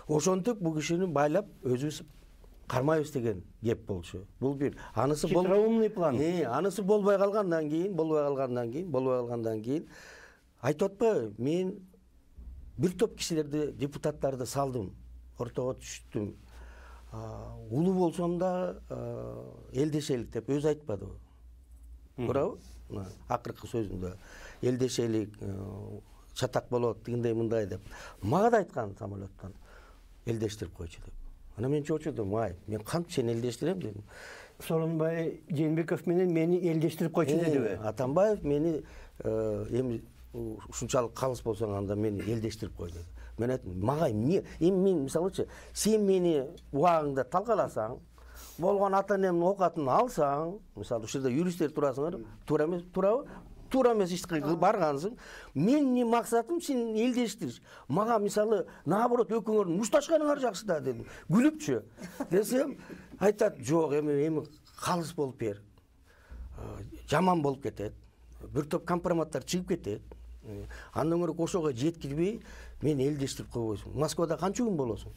Ошентип бул кишини байлап өзүбүз кармайбыз деген кеп болчу. Бул бир. Анысы бол хитроумный план. Э, анысы болбой калгандан кийин, болбой калгандан кийин, болбой калгандан кийин айтып атпайбы, мен бир топ кишилерди, депутаттарды салдым, ортого түштүм. Улуу болсом да элдешелик деп өзү айтпадыбы? Туурабы? Акыркы сөзүндө элдешелик, чатак болот, тигиндей мындай деп. Мага да айткан самолеттон элдештирип койчу деп. Ана мен чочудум, ай, мен кантип сени элдештирем дедим. Сооронбай Жээнбеков менен мени элдештирип койчу дедиби? Атамбаев мени эми ушунчалык калыс болсоң анда мени элдештирип кой деди. Мен айттым, мага эмне? Эми мен мисалычы, сен мени убагыңда талкаласаң, болгон ата энемдин оокатын алсаң, мисалы ушул жерде юристтер турасыңар, туура эмес, туурабы? Туура эмес ишке баргансың. Менин максатым сени элдештириш. Мага мисалы наоборот экөөңөрдүн мушташканыңар жакшы да дедим. Күлүпчү. Десем, айтат, жок, эми эми калыс болуп бер. Жаман болуп кетет. Бир топ компроматтар чыгып кетет. Андан көрө ошого жеткирбей мени элдештирип койбойсуң. Москвада канча күн болосуң?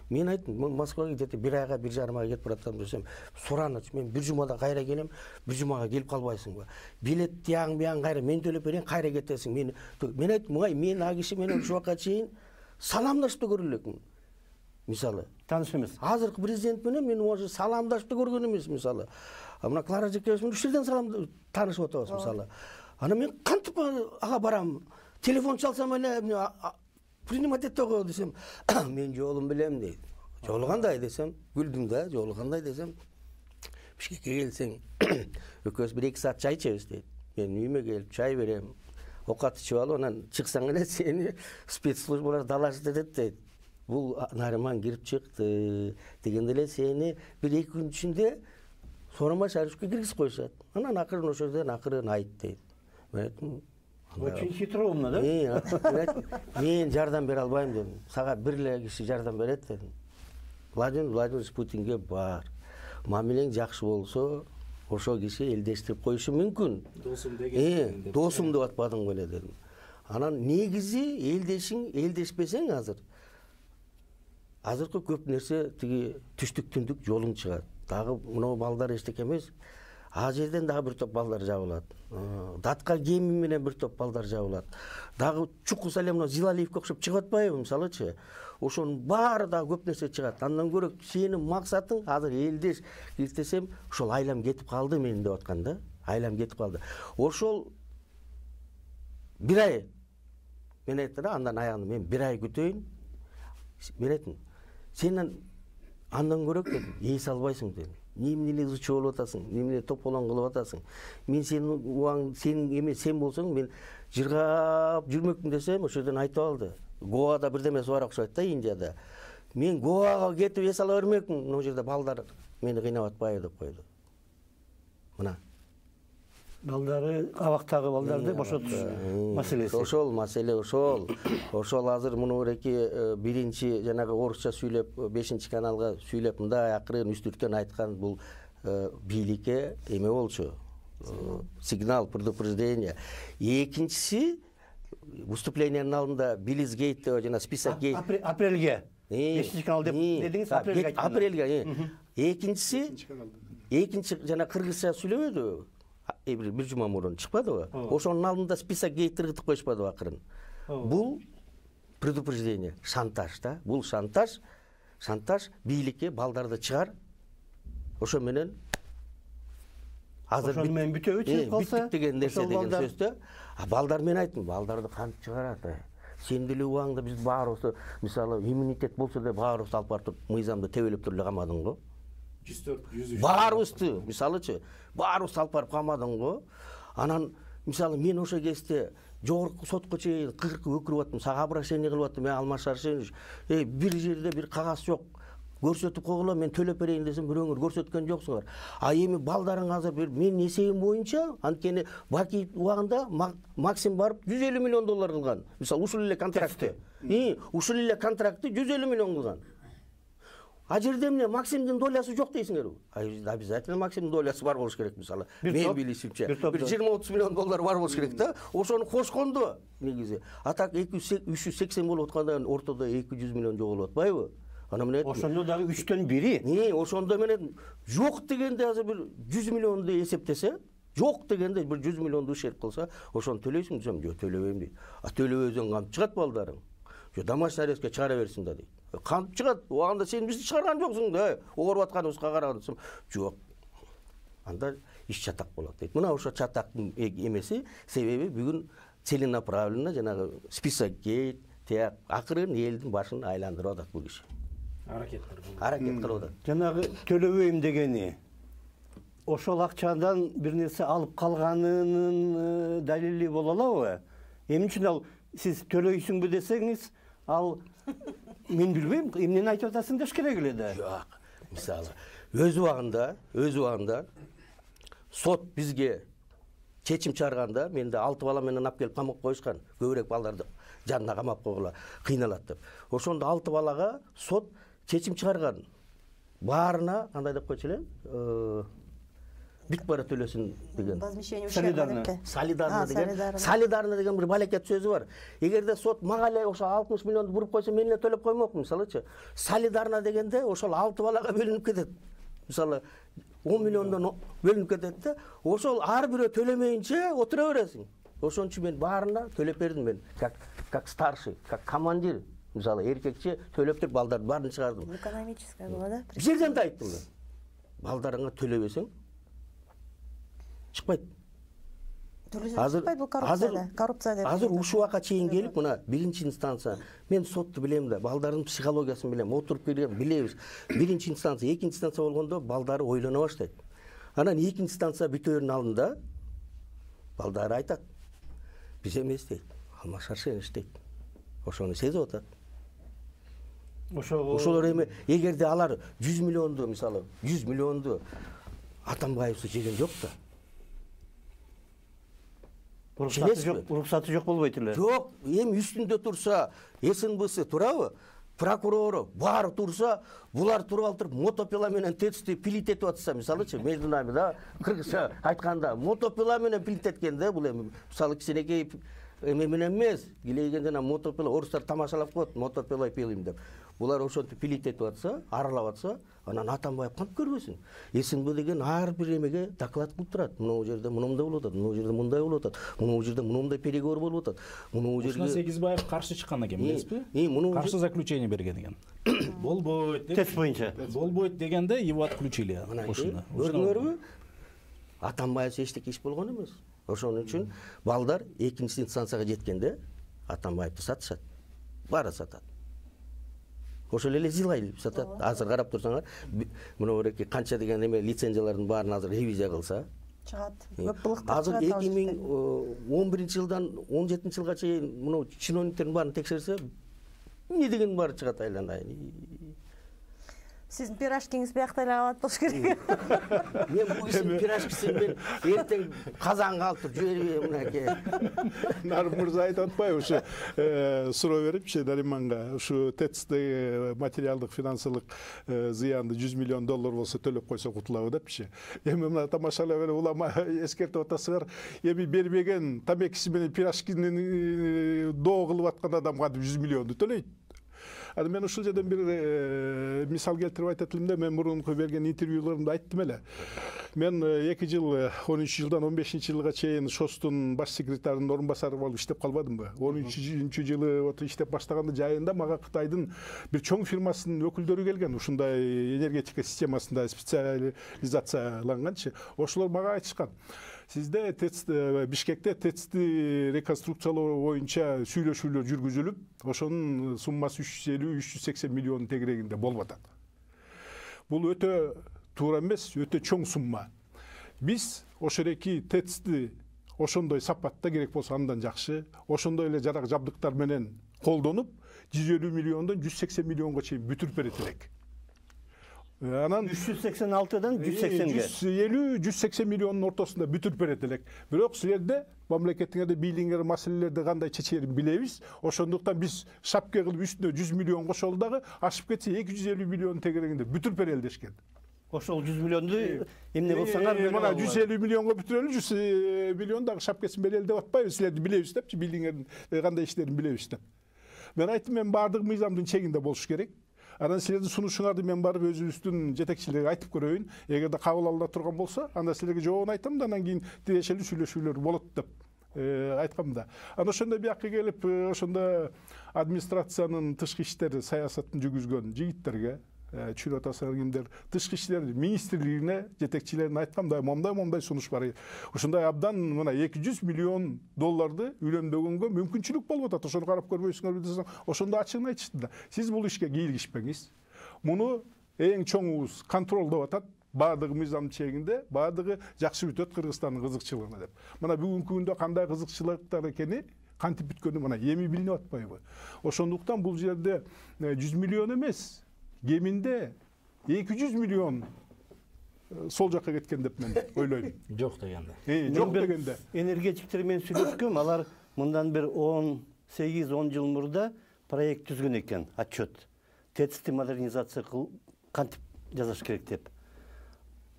Мен айттым, мен Москвага где-то бир айга, бир жарым айга кетип баратам десем, сураныч, мен бир жумада кайра келем, бир жумага келип калбайсыңбы? Билет тияң бияң кайра мен төлөп берейин, кайра кетесиң. Мен мен айттым, ай, мен а киши менен ушул убакка чейин саламдашып да көрө элекмин. Мисалы, тааныш эмес. Азыркы президент менен мен уже саламдашып да көргөн эмес, мисалы. Мына Клара Жекебович менен ушул жерден салам таанышып атабыз, мисалы. Ана мен кантип ага барам? Телефон чалсам эле принимать этте го десем, мен жолун билем дейт. Жолу кандай десем, күлдүм да, жолу кандай десем, Бишкекке келсең, экөөбүз бир эки саат чай ичебиз дейт. Мен үйүмө келип чай берем, окат ичип алып, анан чыксаң эле сени спецслужбалар далашты дейт дейт. Бул Нариман кирип чыкты дегенде эле сени бир эки күн ичинде Сооронбай Шариповичке киргизип коюшат. Анан акырын ошол жерден акырын айт дейт. Мен айттым, очень хитроумно, да? Мен жардам бере албайм дедим. Сага бир эле киши жардам берет дедим. Владимир Владимирович Путинге бар. Мамилең жакшы болсо, ошол киши элдештирип коюшу мүмкүн. Досум деген. Э, досум деп атпадың беле дедим. Анан негизи элдешиң, элдешпесең азыр. Азыркы көп нерсе тиги түштүк түндүк жолуң чыгат. Дагы мына балдар эчтеке эмес. А жерден дагы бир топ балдар жабылат. Датка геми менен бир топ балдар жабылат. Дагы чукул Салемов Зилалиевге окшоп чыгып атпайбы, мисалычы? Ошонун баары дагы көп нерсе чыгат. Андан көрө сенин максатың азыр элдеш десем, ошол айлам кетип калды менин деп аткан да. Айлам кетип калды. Ошол бир ай мен айттым, андан аягында мен бир ай күтөйүн. Мен айттым, сен андан көрөк дедим, эс албайсың дедим. Немне изучуу болуп атасың, немне тополон кылып атасың. Мен сенин убагың, сенин эме сен болсоң, мен жыргап жүрмөкмүн десем, ошол жерден айтып алды. Гоада бирдемеси бар окшойт да, Индияда. Мен Гоага кетип эс ала бермекмин, мына жерде балдар мени кыйнап атпайбы деп койду. Мына. Балдары, абактагы балдарды бошотуш маселеси. Ошол маселе ошол. Ошол азыр муну эки биринчи жанагы орусча сүйлөп, бешинчи каналга сүйлөп мындай акырын үстүртөн айткан бул бийликке эме болчу. Сигнал, предупреждение. Экинчиси выступлениянын алдында Биллис Гейт жана список Гейт. Апрелге. бешинчи канал деп дедиңиз, апрелге айттыңыз. Апрелге. Экинчиси, экинчи жана кыргызча сүйлөбөдү. бир бир жума мурун чыкпадыбы? Ошонун алдында список кейтиргитип коюшпадыбы акырын? Бул предупреждение, шантаж да. Бул шантаж, шантаж бийликке балдарды чыгар. Ошо менен азыр мен бүтөбү чыгып калса, бүттүк деген нерсе деген сөз да. А балдар мен айттым, балдарды кантип чыгарат? Сен деле убагында биз баарыбызды, мисалы, иммунитет болсо да баарыбызды алып барып мыйзамды тебелеп туруп эле камадың го. жүз төрт жүз үч Баарыбызды, мисалычы, баарыбызды алып барып камадың го. Анан, мисалы, мен ошо кезде жогорку сотко чейин кыркы өкүрүп аттым, сага обращение кылып аттым, мен Алмаз Шаршенович, э бир жерде бир кагаз жок. Көрсөтүп койгула, мен төлөп берейин десем, бирөөңөр көрсөткөн жоксуңар. А эми балдарың азыр бир менин эсебим боюнча, анткени Баки убагында Максим барып жүз элүү миллион доллар кылган. Мисалы, ушул эле контрактты. И, ушул эле контрактты жүз элүү миллион кылган. А жерде эмне Максимдин долясы жок дейсиңерби? Обязательно Максимдин долясы бар болуш керек, мисалы. Мен билишимче. Бир жыйырма отуз миллион доллар бар болуш керек да. Ошону кошкондо негизи. А так эки жүз сексен болуп атканда ортодо эки жүз миллион жоголуп атпайбы? Ана менен ошондо дагы үчтөн бири. Не, ошондо менен жок дегенде азыр бир жүз миллионду эсептесе, жок дегенде бир жүз миллионду ушерп кылса, ошону төлөйсүң десем, жок, төлөбөйм дейт. А төлөбөсөң кантип чыгат балдарың? Жок, домашний арестке чыгара берсин да дейт. Кантип чыгат? Убагында сен бизди чыгарган жоксуң да, ооруп атканыбызга караган десем, жок. Анда иш чатак болот дейт. Мына ошо чатактын эмеси, себеби бүгүн целенаправленно жанагы список кейт, тияк акырын элдин башын айландырып атат бул киши. Аракеттер. Аракет кылып атат. Жанагы төлөбөйм дегени ошол акчадан бир нерсе алып калганынын далили боло алабы? Эмне үчүн ал сиз төлөйсүңбү десеңиз, ал мен билбейм, эмнени айтып атасың деш керек эле да. Жок. Мисалы, өз убагында, өз убагында сот бизге чечим чыгарганда, менде алты бала менен алып келип камакка коюшкан. Көбүрөөк балдарды жанына камап койгула, кыйналат деп. Ошондо алты балага сот чечим чыгарган. Баарына кандай деп койчу эле? Бүт бара төлөсүн деген. Возмещение Солидарно. Солидарно деген. Солидарно деген бир балекет сөзү бар. Эгерде сот мага эле ошо алтымыш миллионду буруп койсо, мен эле төлөп коймокмун, мисалычы. Солидарно дегенде ошол алты балага бөлүнүп кетет. Мисалы, он миллиондон бөлүнүп кетет да, ошол ар бирөө төлөмөйүнчө отура бересиң. Ошон үчүн мен баарына төлөп бердим, мен как как старший, как командир. Мисалы, эркекче төлөп туруп балдардын баарын чыгардым. Экономическая была, да? Бир жерден да айттым мен. Балдарыңа төлөбөсөң чыкпайт. Чыкпайт, бул коррупция, коррупция деп. Азыр ушул убакка чейин келип, мына биринчи инстанция, мен сотту билем да, балдардын психологиясын билем, отуруп келген билебиз. Биринчи инстанция, экинчи инстанция болгондо балдары ойлоно баштайт. Анан экинчи инстанция бүтөөрүнүн алдында балдары айтат. Биз эмес дейт, Алмаз Шаршенович дейт. Ошону сезип атат. Ошолор эми эгерде алар жүз миллионду, мисалы, жүз миллионду Атамбаевсыз жеген жок да. Уруксаты жок, уруксаты жок болбойт эле. Жок, эми үстүндө турса, СНБсы турабы? Прокурору баары турса, булар туруп алып мотопила менен тецти пилит этип атса, мисалычы, между нами да, кыргызча айтканда, мотопила менен пилит эткен да, бул эми мисалы кичинекей эме менен эмес, килейген жана мотопила, орустар тамашалап коет, мотопила пилим деп. Булар ошентип пилит этип атса, аралап атса, анан Атамбаев кантип көрбөсүн? СНБ деген ар бир эмеге доклад кылып турат. Мына жерде мындай болуп атат, мына жерде мындай болуп атат, мына жерде мындай переговор болуп атат. Мына жерде Ушуна Сегизбаев каршы чыккан экен, эмеспи? Каршы заключение берген экен. Болбойт деп. Тест боюнча. Болбойт дегенде его отключили ушуна. Көрдүңөрбү? Атамбаев эчтеке иш болгон эмес. Ошон үчүн балдар экинчи инстанцияга жеткенде Атамбаевди сатышат. Баары сатат. Ошол эле зилай сатат. Азыр карап турсаңар, мына эки канча деген эме лицензиялардын баарын азыр ревизия кылса чыгат. Көп былыктар азыр эки миң он биринчи жылдан он жетинчи жылга чейин мына чиновниктердин баарын текшерсе, эмне деген баары чыгат айланайын. Сиздин пирожкиңиз биякта эле калат болуш керек. Мен бул кишинин пирожкисин мен эртең казанга алып туруп жибербейм мынакей. Нарым мырза айтып атпайбы, ушу суроо берипчи Нариманга, ушу ТЭЦ-де материалдык финансылык зыянды жүз миллион доллар болсо төлөп койсо кутулабы депчи. Эми мына тамашалап эле улама эскертип атасыңар, эми бербеген тамекиси менен пирожкини доо кылып аткан адам кантип жүз миллионду төлөйт? Анан мен ушул жерден бир мисал келтирип айтат элем да, мен мурунку берген интервьюларымда айттым эле. Мен эки жыл, он үч жылдан он бешинчи жылга чейин ШОСтун баш секретарынын орун басары болуп иштеп калбадымбы? он үчүнчү жылы вот иштеп баштаганда жайында мага Кытайдын бир чоң фирмасынын өкүлдөрү келген, ушундай энергетика системасында специализацияланганчы. Ошолор мага айтышкан. Сизде ТЭЦ Бишкекте ТЭЦти реконструкциялоо боюнча сүйлөшүүлөр жүргүзүлүп, ошонун суммасы үч жүз элүү үч жүз сексен миллион тегерегинде болуп атат. Бул өтө туура эмес, өтө чоң сумма. Биз ошореки ТЭЦти ошондой сапатта керек болсо андан жакшы, ошондой эле жарак жабдыктар менен колдонуп, жүз элүү миллиондон жүз сексен миллионго чейин бүтүрүп берет элек. Анан үч жүз сексен алтыдан жүз сексенге жүз элүү жүз сексен миллиондун ортосунда бүтүрүп берет элек. Бирок силерде мамлекетиңерде бийлиңер маселелерди кандай чечерин билебиз. Ошондуктан биз шапке кылып үстүнө жүз миллион кошолу дагы ашып кетсе эки жүз элүү миллион тегерегинде бүтүрүп берели дешкен. Ошол жүз миллионду эмне кылсаңар, мына жүз элүү миллионго бүтүрөлү, жүз миллион дагы шапкесин берели деп атпайбыз. Силерди билебиз депчи, бийлиңердин кандай иштерин билебиз деп. Мен айттым, мен баардык мыйзамдын чегинде болуш керек. Анан силердин сунушуңарды мен барып өзүбүздүн жетекчилерге айтып көрөйүн. Эгерде кабыл алына турган болсо, анда силерге жообун айтам да, анан кийин тиешелүү сүйлөшүүлөр болот деп айткам да. Анан ошондо биякка келип, ошондо администрациянын тышкы иштер саясатын жүргүзгөн жигиттерге, чүрүп атасыңар кимдер, тышкы иштер министрлигине жетекчилерине айткам да, момдай момдай сунуш бар. Ошондой абдан мына эки жүз миллион долларды үйлөнбөгөнгө мүмкүнчүлүк болуп атат. Ошону карап көрбөйсүңөрбү десем, ошондо ачыгын айтышты да. Сиз бул ишке кийлигишпеңиз. Муну эң чоңубуз контролдоп атат. Баардыгы мыйзам чегинде, баардыгы жакшы бүтөт Кыргызстандын кызыкчылыгына деп. Мына бүгүнкү күндө кандай кызыкчылыктар экени, кантип бүткөнү мына эми билинип атпайбы? Ошондуктан бул жерде жүз миллион эмес, кеминде эки жүз миллион сол жакка кеткен деп мен ойлойм. Жок дегенде. Жок дегенде. Энергетиктер менен сүйлөшкөм, алар мындан бир он сегиз он жыл мурда проект түзгөн экен, отчет. ТЭЦти модернизация кылып кантип жасаш керек деп.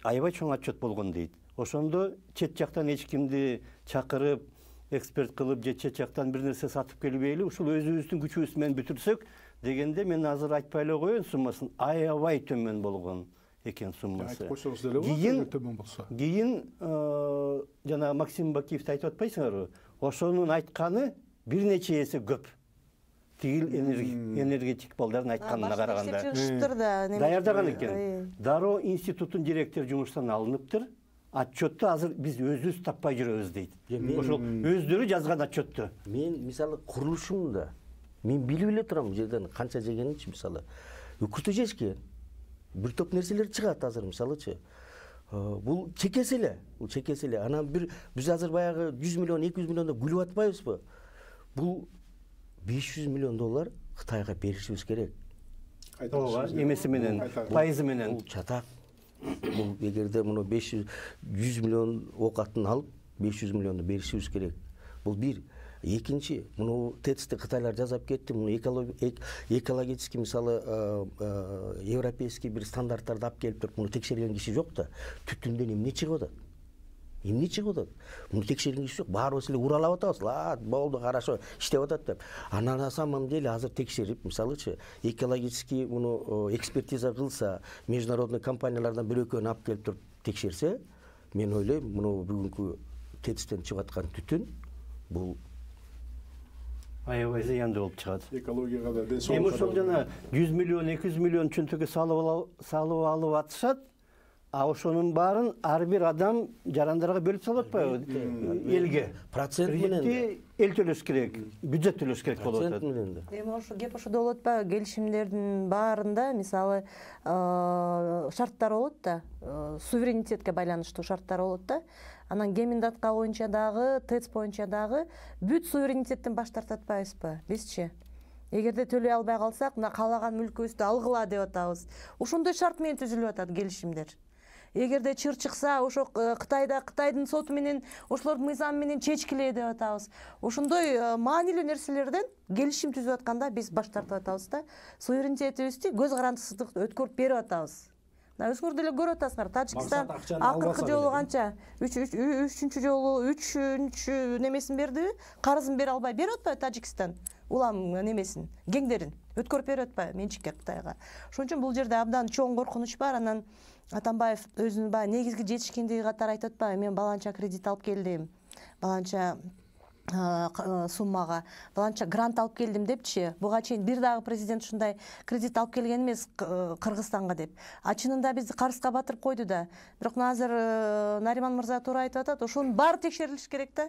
Аябай чоң отчет болгон дейт. Ошондо чет жактан эч кимди чакырып, эксперт кылып, же чет жактан бир нерсе сатып келбейли, ушул өзүбүздүн күчүбүз менен бүтүрсөк дегенде, мен азыр айтпай эле коеюн, суммасын аябай төмөн болгон экен суммасы. Кийин төмөн болсо. Кийин жана Максим Бакиевди айтып атпайсыңарбы? Ошонун айтканы бир нече эсе көп. Тигил энергетик балдардын айтканына караганда. Даярдаган экен. Дароо институттун директору жумуштан алыныптыр. Отчетту азыр биз өзүбүз таппай жүрөбүз дейт. Ошол өздөрү жазган отчетту. Мен мисалы курулушумда мен билип эле турам бул жерден канча жегенинчи, мисалы. Үкүтө жешкен. Бир топ нерселер чыгат азыр, мисалычы. Бул чекеси эле, бул чекеси эле. Анан бир биз азыр баягы жүз миллион, эки жүз миллиондо күлүп атпайбызбы? Бул беш жүз миллион доллар Кытайга беришибиз керек. Ооба, эмеси менен, пайызы менен. Бул чатак. Бул эгерде муну беш жүз жүз миллион окатын алып, беш жүз миллионду беришибиз керек. Бул бир. Экинчи, муну ТЭЦти Кытайлар жасап кетти, муну экологический, мисалы, европейский бир стандарттарды алып келип туруп, муну текшерген киши жок да. Түтүндөн эмне чыгып атат? Эмне чыгып атат? Муну текшерген киши жок. Баарыбыз эле уралап атабыз. А, болду, хорошо, иштеп атат деп. Анан на самом деле азыр текшерип, мисалычы, экологический муну экспертиза кылса, международный компаниялардан бир экөөнү алып келип туруп текшерсе, мен ойлойм, муну бүгүнкү ТЭЦтен чыгып аткан түтүн бул аябай зыяндуу болуп чыгат. Экологияга да, денсаулыкка да. Эми ошол жана жүз миллион, эки жүз миллион чөнтөгө салып алып атышат. А ошонун баарын ар бир адам жарандарга бөлүп салып атпайбы? Элге. Процент менен эл төлөш керек, бюджет төлөш керек болуп атат. Эми ошо кеп ошодо болот атпайбы? Келишимдердин баарында, мисалы, шарттар болот да, суверенитетке байланыштуу шарттар болот да. Анан Геминдатка боюнча дагы, ТЭЦ боюнча дагы бүт суверенитеттен баш тартып атпайбызбы? Бизчи? Эгерде төлөй албай калсак, мына каалаган мүлкүбүздү алгыла деп атабыз. Ошондой шарт менен түзүлүп атат келишимдер. Эгерде чыр чыкса, ошо Кытайда Кытайдын соту менен, ошолордун мыйзамы менен чечкиле деп атабыз. Ошондой маанилүү нерселерден келишим түзүп атканда биз баш тартып атабыз да. Суверенитетибизди көз карандысыздык өткөрүп берип атабыз. мына өзүңөр деле көрүп атасыңар, Тажикстан Максат акчаны акыркы албаса жолу деле. канча үчүнчү жолу үчүнчү немесин бердиби, карызын бере албай берип атпайбы Тажикстан улам немесин, кеңдерин өткөрүп берип атпайбы менчикке Кытайга. Ошон үчүн бул жерде абдан чоң коркунуч бар. Анан Атамбаев өзүнүн баягы негизги жетишкендиги катары айтып атпайбы, мен баланча кредит алып келдим, баланча суммага, баланча грант алып келдим депчи. Буга чейин бир дагы президент ушундай кредит алып келген эмес Кыргызстанга деп. А чынында бизди карызга батырып койду да. Бирок азыр Нариман мырза туура айтып атат, ошонун баары текшерилиш керек да.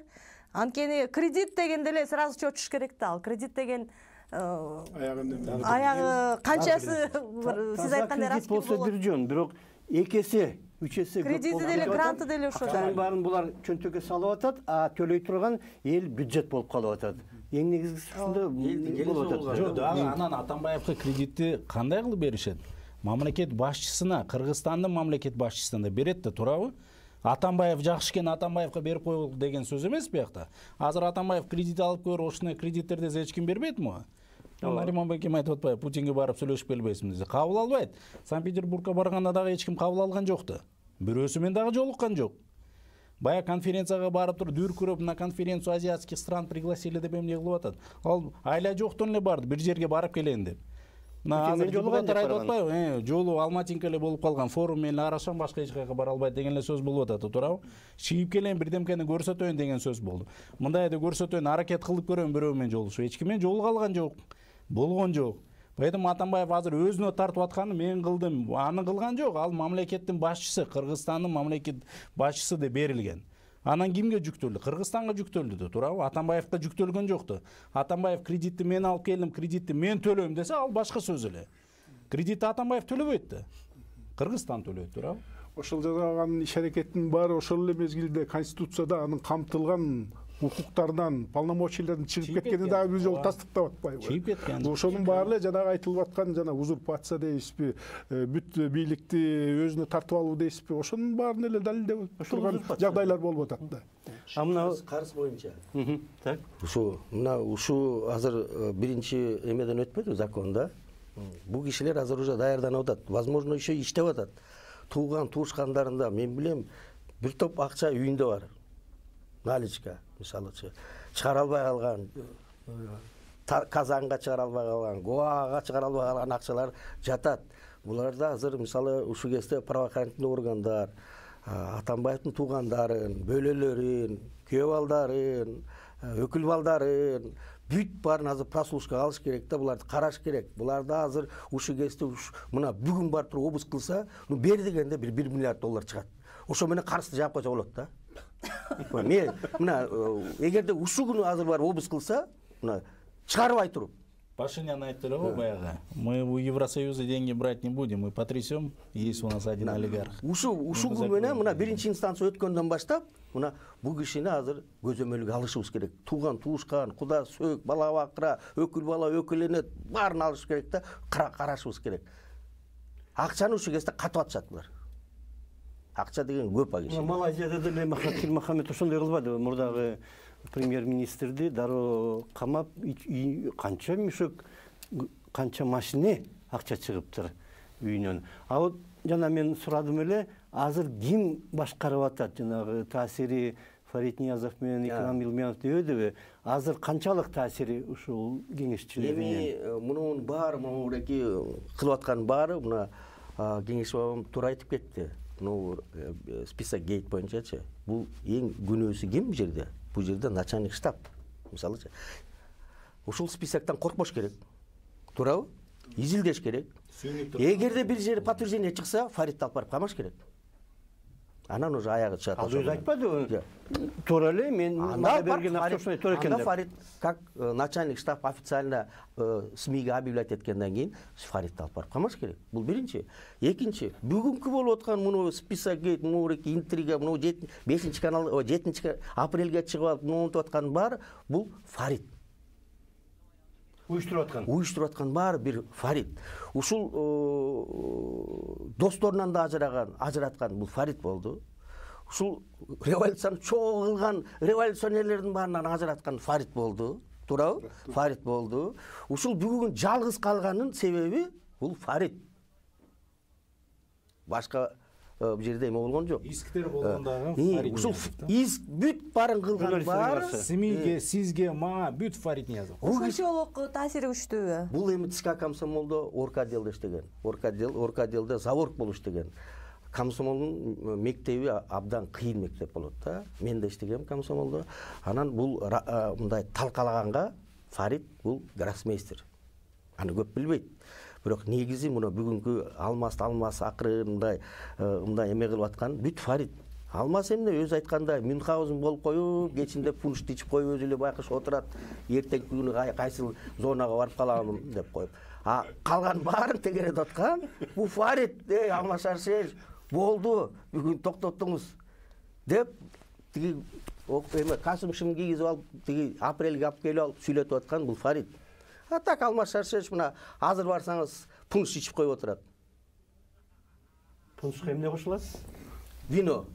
Анткени кредит деген деле сразу чочуш керек да. Ал кредит деген аягы канчасы сиз айткандай кредит болсо бир жөн, бирок эки эсе үч эсе кредити деле гранты деле ошо да. Баарын булар чөнтөгө салып атат, а төлөй турган эл бюджет болуп калып атат. Эң негизгиси ушунда болуп атат. Жок, дагы анан Атамбаевге кредитти кандай кылып беришет? Мамлекет башчысына, Кыргызстандын мамлекет башчысына да берет да, туурабы? Атамбаев жакшы экен, Атамбаевга берип койгула деген сөз эмес биякта. Азыр Атамбаев кредит алып көр, ошондой кредиттерди эч ким бербейт му? Нариман Бекем айтып атпайбы, Путинге барып сүйлөшүп келбейсиңби десе, кабыл албайт. Санкт-Петербургка барганда дагы эч ким кабыл алган жок да. Бирөөсү менен дагы жолуккан жок. Бая конференцияга барып туруп дүркүрөп, на конференцию азиатских стран пригласили деп эмне кылып атат. Ал айла жоктон эле барды, бир жерге барып келейин деп. Мына азыр депутаттар айтып атпайбы, жолу Алматинка эле болуп калган, форум менен арашам, башка эч жака бара албайт деген эле сөз болуп атат, туурабы? Чыгып келейин, бирдемкени көрсөтөйүн деген сөз болду. Мындай да көрсөтөйүн, аракет кылып көрөм бирөө менен жолугушуп. Эч ким менен жолуга алган жок. Болгон жок. Поэтому Атамбаев азыр өзүнө тартып атканы мен кылдым, аны кылган жок. Ал мамлекеттин башчысы, Кыргызстандын мамлекет башчысы деп берилген. Анан кимге жүктөлдү? Кыргызстанга жүктөлдү да, туурабы? Атамбаевга жүктөлгөн жокту. Атамбаев кредитти мен алып келдим, кредитти мен төлөйм десе, ал башка сөз эле. Кредитти Атамбаев төлөбөйт да. Кыргызстан төлөйт, туурабы? Ошол жасаган иш аракеттин баары ошол эле мезгилде Конституцияда анын камтылган укуктарынан, полномочиялардан чыгып кеткени дагы бир жолу тастыктап атпайбы? Чыгып кеткен. Ошонун баары эле жанагы айтылып аткан жана узурпация дейсизби, бүт бийликти өзүнө тартып алуу дейсизби, ошонун баарын эле далилдеп турган жагдайлар болуп атат да. А мына карыз боюнча. Так. Ушу мына ушу азыр биринчи эмеден өтпөдү законда. Бул кишилер азыр уже даярданып атат. Возможно, еще иштеп атат. Тууган туушкандарында мен билем бир топ акча үйүндө бар. Наличка, мисалычы, чыгара албай калган, Казанга чыгара албай калган, Гоага чыгара албай калган акчалар жатат. Буларда азыр мисалы ушул кезде правоохранительный органдар Атамбаевдин туугандарын, бөлөлөрүн, күйөө балдарын, өкүл балдарын бүт баарын азыр прослушкага алыш керек да, буларды караш керек. Буларда азыр ушул кезде мына бүгүн барып туруп обыск кылса, ну бер дегенде бир бир миллиард доллар чыгат. Ошо менен карызды жаап койсо болот да. Мен мына эгерде ушул күнү азыр барып обыск кылса, мына чыгарбай туруп. Пашинян айтты эле го баягы. Мы у Евросоюза деньги брать не будем, мы потрясем, есть у нас один олигарх. Ушул ушул күн менен мына биринчи инстанция өткөндөн баштап, мына бул кишини азыр көзөмөлгө алышыбыз керек. Тууган, туушкан, куда сөөк, бала бакыра, өкүл бала, өкүл эне баарын алыш керек да, карашыбыз керек. Акчаны ушул кезде катып атышат булар. Акча деген көп агыш. Малайзияда деле Махатир Мохаммед ошондой кылбады. Мурдагы премьер-министрди дароо камап, канча мешок, канча машине акча чыгыптыр үйүнөн. А вот жана мен сурадым эле, азыр ким башкарып атат? Жанагы таасири Фарид Ниязов менен Икрам Илмиянов дебедиби? Азыр канчалык таасири ушул кеңешчилердин? Эми мунун баары, муну кылып аткан баары, мына кеңеш бабам туура айтып кетти. Ну, список гейт боюнчачы, бул эң күнөөсү ким бул жерде? Бул жерде начальник штаб. Мисалычы, ушул списоктон коркпош керек. Туурабы? Изилдеш керек. Эгерде бир жери подтверждение чыкса, Фаридди алып барып камаш керек. Анан уже аягы чыгат. Ал өзү айтпадыбы? Туура эле, мен мага берген акча ошондой туура экен деп. Анда Фарид как начальник штаб официально СМИге объявлять эткенден кийин Фаридди алып барып камаш керек. Бул биринчи. Экинчи, бүгүнкү болуп аткан муну список гейт, муну интрига, муну бешинчи канал, жетинчи апрелге чыгып алып, мунутуп аткан баары бул Фарид. Уюштуруп аткан. Уюштуруп аткан баары бир Фарид. Ушул досторунан да ажыраган, ажыраткан бул Фарид болду. Ушул революцияны чоң кылган революционерлердин баарынан ажыраткан Фарид болду. Туурабы? Фарид болду. Ушул бүгүн жалгыз калганын себеби бул Фарид. башка бул жерде эме болгон жок. Исктер болгон дагы Фарид ушул Ниязов. иск бүт баарын кылган баары Семейге, сизге, мага бүт Фарид Ниязов. Ошончолук таасири күчтүүбү? бул эми ТСК комсомолдо орг отделде иштеген. Орг отдел, орг отделде заворг болуп иштеген. Комсомолдун мектеби абдан кыйын мектеп болот да. Мен да иштегем комсомолдо. Анан бул мындай талкалаганга Фарид бул гроссмейстер. Аны көп билбейт. Бирок негизи мына бүгүнкү Алмаз Алмаз акыры мындай мындай эме кылып аткан бүт Фарид. Алмаз эмне өзү айтканда Мюнхгаузен болуп коюп, кечинде пуншт ичип коюп өзү эле байкуш отурат. Эртеңки күнү кайсыл зонага барып калам деп коюп. А калган баарын тегеретип аткан бул Фарид, эй Алмаз Шаршенович, болду, бүгүн токтоттуңуз деп тиги эме касым-шымын кийгизип алып, тиги апрелге алып келип алып сүйлөтүп аткан бул Фарид. А так Алмаз Шаршенович мына азыр барсаңыз пунш ичип коюп отурат. Пуншка эмне кошулат? Вино.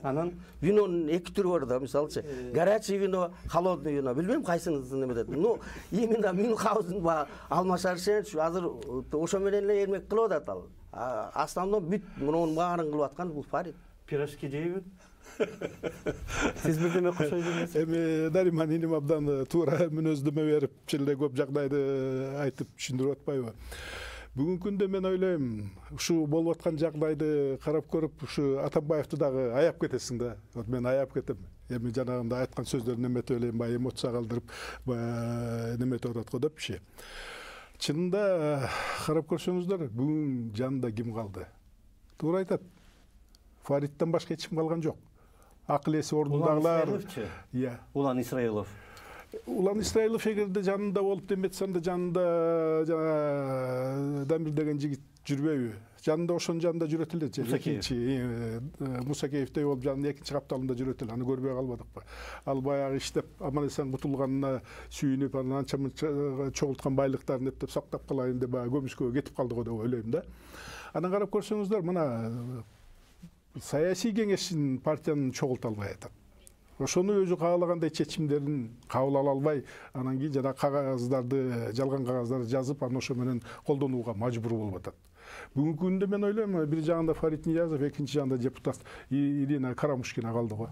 Анан Винонун эки түрү бар да, мисалчы, горячий вино, холодный вино. Билбейм кайсыңызды неметет. Ну, именно Мюнхгаузен ба Алмаз Шаршенович азыр ошо менен эле эрмек кылып атат ал. Основном бүт мунун баарын кылып аткан бул Фарид. пирожки жейби? Сиз бирдеме кошо жүрмөсүз? Эми Нариман иним абдан туура мүнөздөмө берип, чын эле көп жагдайды айтып түшүндүрүп атпайбы? Бүгүнкү күндө мен ойлойм, ушу болуп аткан жагдайды карап көрүп, ушу Атамбаевди дагы аяп кетесиң да. Вот мен аяп кетем. Эми жанагында айткан сөздөрүн эметип элем, баягы эмоция калтырып, неметип атат го депчи. Чынында карап көрсөңүздөр, бүгүн жанында ким калды? Туура айтат. Фаридтен башка эч ким калган жок. Акыл эси ордундагылар. Иә. Улан Исраилов. Улан Исраилов эгерде жанында болуп деметсем да жанында жана Дамир деген жигит жүрбөйбү? Жанында ошонун жанында жүрөт эле. Экинчи Мусакеевдей болуп жанында экинчи капталында жүрөт эле. Аны көрбөй калбадыкпы? Ал баягы иштеп аман эсен кутулганына сүйүнүп, анан анча мынча чогулткан байлыктарын эптеп сактап калайын деп баягы көмүскөгө кетип калды го деп ойлойм да. Анан карап көрсөңүздөр, мына саясий кеңештин партиянын чогулта албай атат. Ошону өзү каалагандай чечимдерин кабыл ала албай, анан кийин жана кагаздарды, жалган кагаздарды жазып, аны ошо менен колдонууга мажбур болуп атат. Бүгүнкү күндө мен ойлойм, бир жагында Фарид Ниязов, экинчи жагында депутат Ирина Карамушкина калды го.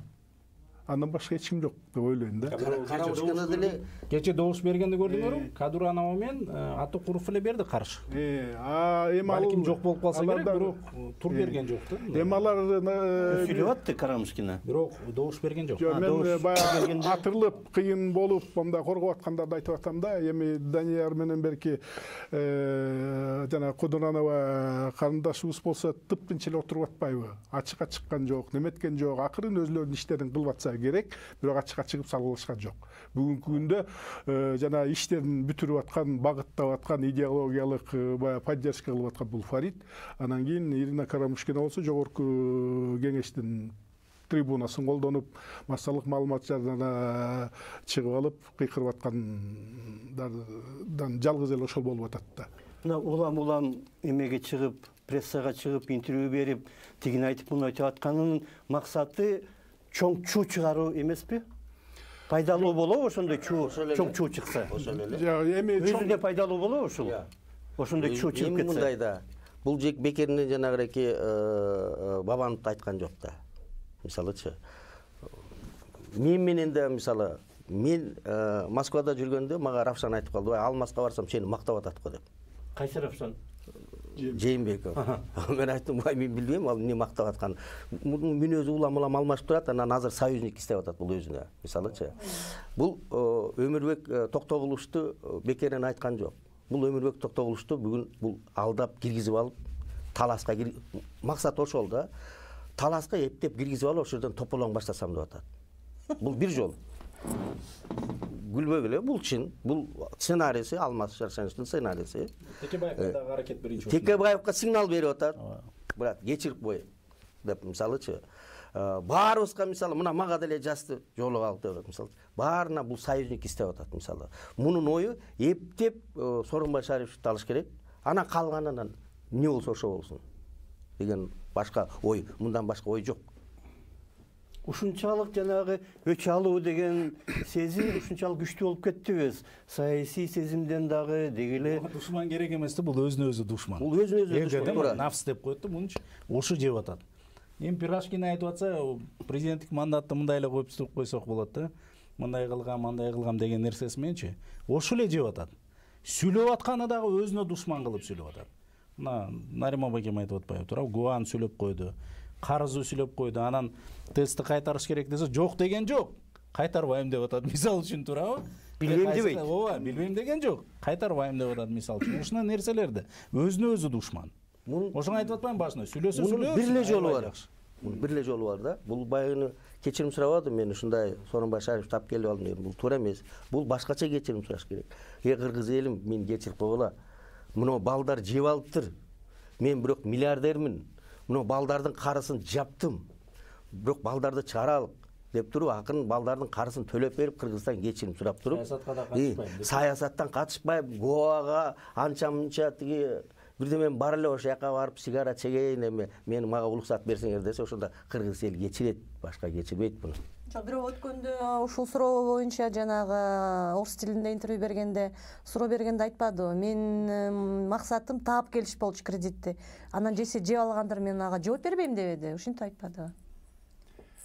Андан башка эч ким жок деп ойлойм да. Карамушкина деле кече добуш бергенди көрдүңөрбү? Кадуранова менен Атыкуров эле берди каршы. Э, а эми ал Балким жок болуп калса керек, бирок тур берген жок да. Эми алар сүйлөп атты Карамушкина. Бирок добуш берген жок. Мен баягы атырылып, кыйын болуп, мындай коргоп аткандарды айтып атам да. Эми Данияр менен берки жана Кудуранова карындашыбыз болсо тыптынча эле отуруп атпайбы? Ачыкка чыккан жок, неметкен жок, акырын өзлөрүнүн иштерин кылып атса керек, бирок ачыкка чыгып салгылашкан жок. Бүгүнкү күндө жана иштерин бүтүрүп аткан, багыттап аткан, идеологиялык баягы поддержка кылып аткан бул Фарид. Анан кийин Ирина Карамушкина болсо жогорку кеңештин трибунасын колдонуп, массалык маалымат жарына чыгып алып, кыйкырып аткандан жалгыз эле ошол болуп атат да. Мына улам-улам эмеге чыгып, прессага чыгып, интервью берип, тигин айтып, муну айтып атканынын максаты чоң чуу чыгаруу эмеспи? Пайдалуу болобу ошондой чуу, чоң чуу чыкса? Эми өзүнө пайдалуу болобу ушул? Ошондой чуу чыгып кетсе? Эми мындай да. Бул жек бекеринен жанагыреки Бабанов айткан жок да. Мисалычы, мен менен да мисалы, мен Москвада жүргөндө мага Равшан айтып калды, Алмазга барсам сени мактап атат го деп. Кайсы Равшан? Жээнбеков. Мен айттым, бай мен билбейм, ал эмне мактап аткан. Мүнөзү улам-улам алмашып турат, анан азыр союзник иштеп атат бул өзүнө. Мисалычы, бул Өмүрбек Токтогуловду бекеринен айткан жок. Бул Өмүрбек Токтогуловду бүгүн бул алдап киргизип алып, таласка максат ошол да. Таласка эптеп киргизип алып, ошол жерден тополоң баштасам деп атат. Бул бир жол. Күлбөк эле, бул чын. Бул сценарийси, Алмаз Шаршеновдун сценарийси. Текебаевка дагы аракет биринчи. Текебаевка сигнал берип атат. Брат, кечирип кой деп мисалычы. Баарыбызга мисалы мына мага деле жазды жолуп алып деп мисалы. Баарына бул союзник иштеп атат мисалы. Мунун ою эптеп Сооронбай Шариповду алыш керек. Ана калганынан эмне болсо ошо болсун деген башка ой, мындан башка ой жок. ушунчалык жанагы өч алуу деген сезим ушунчалык күчтүү болуп кеттибиз. Саясий сезимден дагы деги эле душман керек эмес да, бул өзүнө өзү душман. Бул өзүнө өзү душман. Нафс деп коет да, мунча ошо жеп атат. Эми Пирашкин айтып атса, президенттик мандатты мындай эле коюп түзүп койсок болот да. Мындай кылгам, мындай кылгам деген нерсеси мененчи ошо эле жеп атат. Сүйлөп атканы дагы өзүнө душман кылып сүйлөп атат. Мына Нарима бакем айтып атпайбы, туурабы? Гуан сүйлөп койду, карызы сүйлөп койду, анан тестти кайтарыш керек десе, жок деген жок. Кайтарбайм деп атат, мисалы үчүн, туурабы? Билбейм дебейт. Ооба, билбейм деген жок. Кайтарбайм деп атат, мисалы үчүн. Ушундай нерселерди өзүнө өзү душман. Ошону айтып атпаймынбы башында? Сүйлөсө сүйлөсүн. Бир эле жолу бар. Бул бир эле жолу бар да. Бул байгыны кечирим сурабадым мен, ушундай Сооронбай Шариповду тап келип алдым дедим. Бул туура эмес. Бул башкача кечирим сураш керек. Эй кыргыз элим, мени кечирип койгула. Мына балдар жеп алыптыр. Мен бирок миллиардермин. Мына балдардын карысын жаптым. Бирок балдарды чыгаралык деп туруп, акырын балдардын карысын төлөп берип, Кыргызстан кечирим сурап туруп, саясатка да катышпайм. Саясаттан катышпайм, Гоага анча-мынча тиги бирде мен бар эле ошол жака барып сигара чегейин, эми мени мага уруксат берсеңер десе, ошондо кыргыз эл кечирет, башка кечирбейт муну. Бирок өткөндө ушул суроо боюнча жанагы орус тилинде интервью бергенде суроо бергенде айтпадыбы? Мен максатым таап келиш болчу кредитти. Анан жесе жеп алгандыр, мен ага жооп бербейм дебеди. Ушинтип айтпадыбы?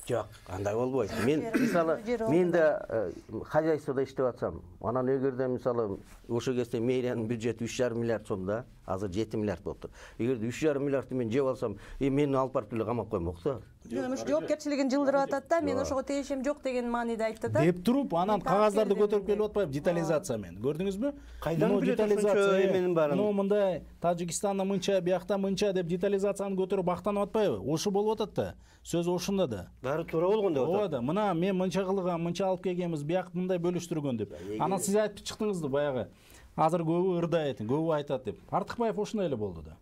Жок, андай болбойт. Мен мисалы мен да хозяйстводо иштеп атсам, анан эгерде мисалы ошол кезде мэриянын бюджети үч жарым миллиард сом да, азыр жети миллиард болуптур. Эгерде үч жарым миллиардты мен жеп алсам, э мени алып барып эле камап коймок да. Жок, жоопкерчилигин жылдырып атат да, мен ошого тиешем жок деген мааниде айтты да. Деп туруп, анан кагаздарды көтөрүп келип атпайбы, детализация менен. Көрдүңүзбү? Кайдан билет ошончо эменин баарын? Ну мындай Тажикстанда мынча, биякта мынча деп детализацияны көтөрүп актанып атпайбы? Ошо болуп атат да. Сөз ошондо да. Баары туура болгон деп атат. Ооба да. Мына мен мынча кылгам, мынча алып келгенбиз, бияк мындай бөлүштүргөн деп. Анан сиз айтып чыктыңыз да баягы. Азыр көбү ырдайт, көбү айтат деп. Артыкбаев ошондой эле болду да.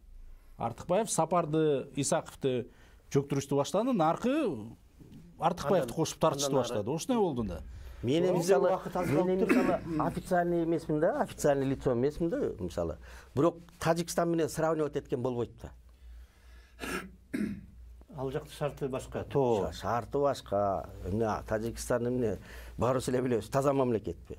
Артыкбаев Сапарды, Исаковду жөктүрүштү баштады, наркы Артыкбаевди кошуп тартышты баштады. Ошондой болду да. Мен мисалы, мен мисалы официальный эмесмин да, официальный лицо эмесмин да, мисалы. Бирок Тажикстан менен сравнивать эткен болбойт да. Ал жакты шарты башка, тоо. Шарты башка. Эмне Тажикстан эмне баарыбыз эле билебиз, таза мамлекетпи.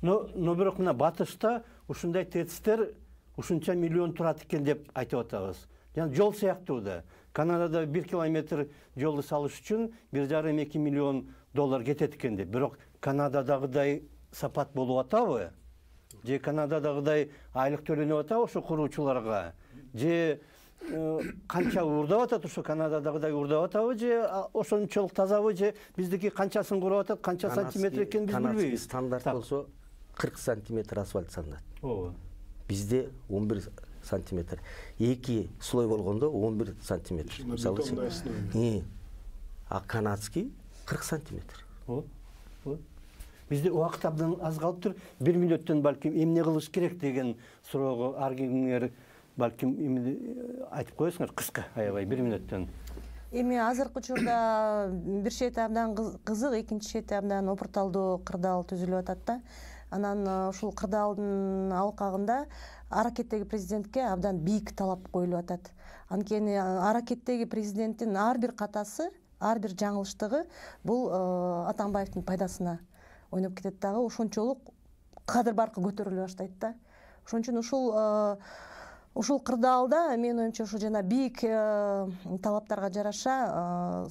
Но, но бирок мына батышта ушундай тецтер ушунча миллион турат экен деп айтып атабыз. Жана жол сыяктуу да. Канадада бир километр жолду салыш үчүн бир жарым эки миллион доллар кетет экен деп. Бирок Канададагыдай сапат болуп атабы? Же Канададагыдай айлык төлөнүп атабы ошо куруучуларга? Же канча уурдап атат ошо Канададагыдай уурдап атабы, же ошончолук тазабы, же биздики канчасын курап атат, канча сантиметр экенин биз билбейбиз. Стандарт болсо кырк сантиметр асфальт салынат. Ооба. Бизде он бир сантиметр. Эки слой болгондо он бир сантиметр. Мисалы, а канадский кырк сантиметр. Ооба. Бизде убакыт абдан аз калыптыр. бир мүнөттөн балким эмне кылыш керек деген суроого ар кимиңер балким айтып коесуңар кыска, аябай бир мүнөттөн. Эми азыркы учурда бир чети абдан кызык, экинчи чети абдан опурталдуу кырдаал түзүлүп атат да. Анан ушул кырдаалдын алкагында аракеттеги президентке абдан бийик талап коюлуп атат. Анткени аракеттеги президенттин ар бир катасы, ар бир жаңылыштыгы бул Атамбаевдин пайдасына ойноп кетет дагы, ошончолук кадыр баркы көтөрүлө баштайт да. Ошон үчүн ушул ушул кырдаалда менин оюмча ушу жана бийик талаптарга жараша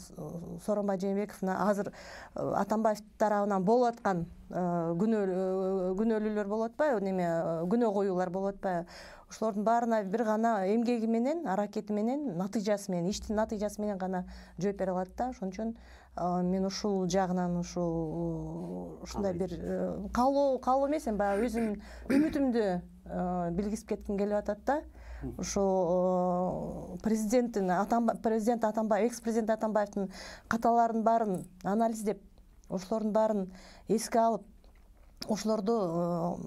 Сооронбай Жээнбековна азыр Атамбаев тарабынан болуп аткан күнөөлүүлөр болуп атпайбы, неме күнөө коюулар болуп атпайбы? Ошолордун баарына бир гана эмгеги менен, аракети менен, натыйжасы менен, иштин натыйжасы менен гана жооп бере алат да. Ошон үчүн мен ушул жагынан ушул ушундай бир каалоо каалоо эмес, эми баягы өзүмдүн үмүтүмдү билгизип кетким келип атат да. Ошо президенттин президент Атамбаев, экс-президент Атамбаевдин каталарынын баарын анализдеп, ошолордун баарын эске алып, ошолорду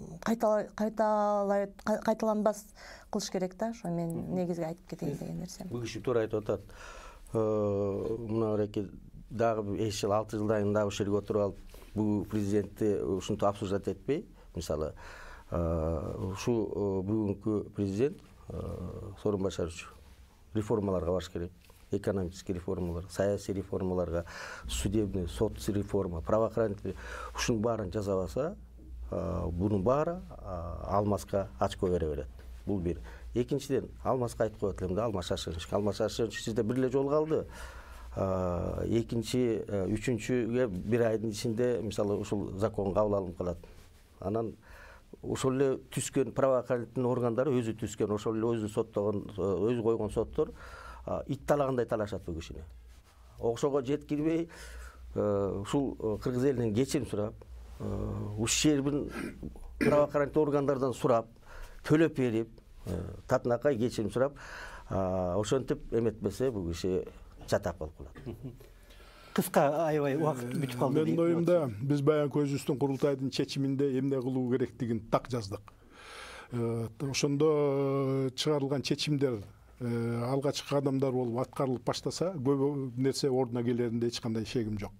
кайталанбас кылыш керек да. Ошо мен негизги айтып кетейин деген нерсем. Бул киши туура айтып атат. Мына эки дагы беш жыл, алты жылдан кийин дагы ошол жерге отуруп алып, бул президентти ушинтип обсуждать этпей, мисалы, ушу бүгүнкү президент Сооронбай Шарипович реформаларга барыш керек. экономический реформалар, саясий реформаларга, судебный, сот реформа, правоохранительный ушунун баарын жасабаса, бунун баары Алмазга очко бере берет. Бул бир. Экинчиден, Алмазга айтып коет элем да, Алмаз Шашкевич. Алмаз Шашкевич сизде бир эле жолу калды. Экинчи, үчүнчүгө бир айдын ичинде мисалы ушул закон кабыл алынып калат. Анан ошол эле түзгөн правоохранительный органдары өзү түзгөн, ошол эле өзү соттогон, өзү койгон соттор ит талагандай талашат бул кишини. Ошого жеткирбей, ушул кыргыз элинен кечирим сурап, ушул жердин правоохранительный органдардан сурап, төлөп берип, татынакай кечирим сурап, ошентип эметпесе бул киши жатак болуп калат. Кыска аябай убакыт бүтүп калды. Менин оюмда биз баягы өзүбүздүн курултайдын чечиминде эмне кылуу керектигин так жаздык. Ошондо чыгарылган чечимдер алгачкы кадамдар болуп аткарылып баштаса, көп нерсе ордуна келеринде эч кандай шегим жок.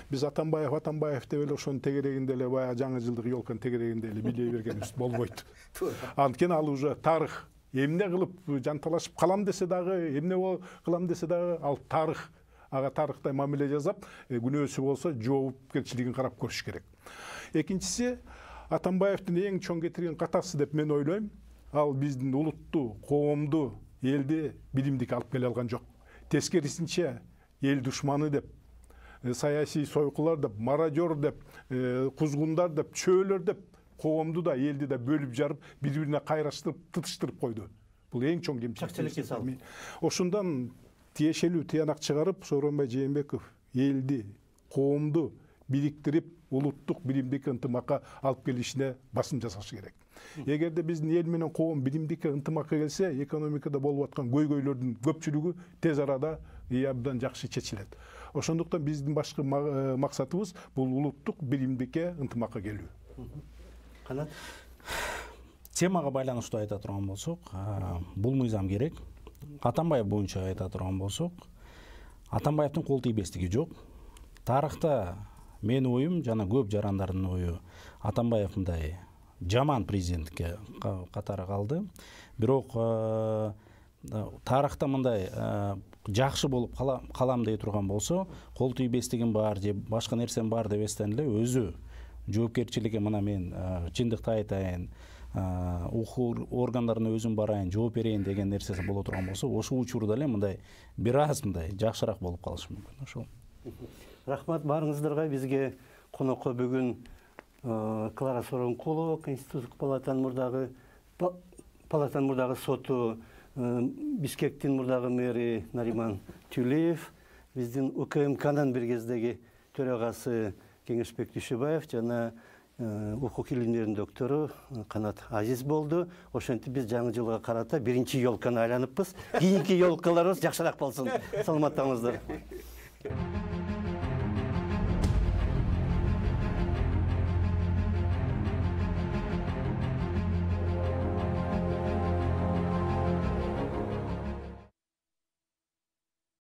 Биз Атамбаев, Атамбаев деп эле ошонун тегерегинде эле баягы жаңы жылдык ёлканын тегерегинде эле билей бергенибиз болбойт. Анткени ал уже тарых. Эмне кылып жанталашып калам десе дагы, эмне кылам десе дагы, ал тарых. Ага тарыхтай мамиле жасап, күнөөсү болсо жоопкерчилигин карап көрүш керек. Экинчиси, Атамбаевдин эң чоң кетирген катасы деп мен ойлойм, ал биздин улутту, коомду, элди билимдикке алып келе алган жок. Тескерисинче, эл душманы деп, саясий сойкулар деп, мародер деп, кузгундар деп, чөөлөр деп, коомду да, элди да бөлүп жарып, бири-бирине кайраштырып, тытыштырып койду. Бул эң чоң кемчилик. Ошундан тиешелүү тыянак чыгарып, Сооронбай Жээнбеков элди, коомду бириктирип, улуттук билимдикке ынтымакка алып келишине басым жасашы керек. Эгерде биздин эл менен коом билимдикке ынтымакка келсе, экономикада болуп аткан көйгөйлөрдүн көпчүлүгү тез арада абдан жакшы чечилет. Ошондуктан биздин башкы максатыбыз бул улуттук билимдикке ынтымакка келүү. Канат? Темага байланыштуу айта турган болсок, бул мыйзам керек. Атамбаев боюнча айта турган болсок, Атамбаевдин кол тийбестиги жок. Тарыхта менин оюм жана көп жарандардын ою, Атамбаев мындай жаман президентке катары калды. Бирок тарыхта мындай жакшы болуп калам дей турган болсо, кол тийбестигим бар же башка нерсем бар деп эстен эле өзү жоопкерчиликке, мына мен чындыкты айтайын, укук органдарына өзүм барайын, жооп берейин деген нерсеси боло турган болсо, ошол учурда эле мындай бир аз мындай жакшыраак болуп калышы мүмкүн. Ошол. Рахмат баарыңыздарга. Бизге конокко бүгүн Клара Сооронкулова, Конституциялык палатанын мурдагы палатанын мурдагы соту, Бишкектин мурдагы мэри Нариман Тюлеев, биздин УКМКнын бир кездеги төрагасы Кеңешбек Дүйшөбаев жана укук илимдеринин доктору Канат Азиз болду. Ошентип биз жаңы жылга карата биринчи ёлканы айланыппыз. Кийинки ёлкаларыбыз жакшыраак болсун. Саламаттаңыздар.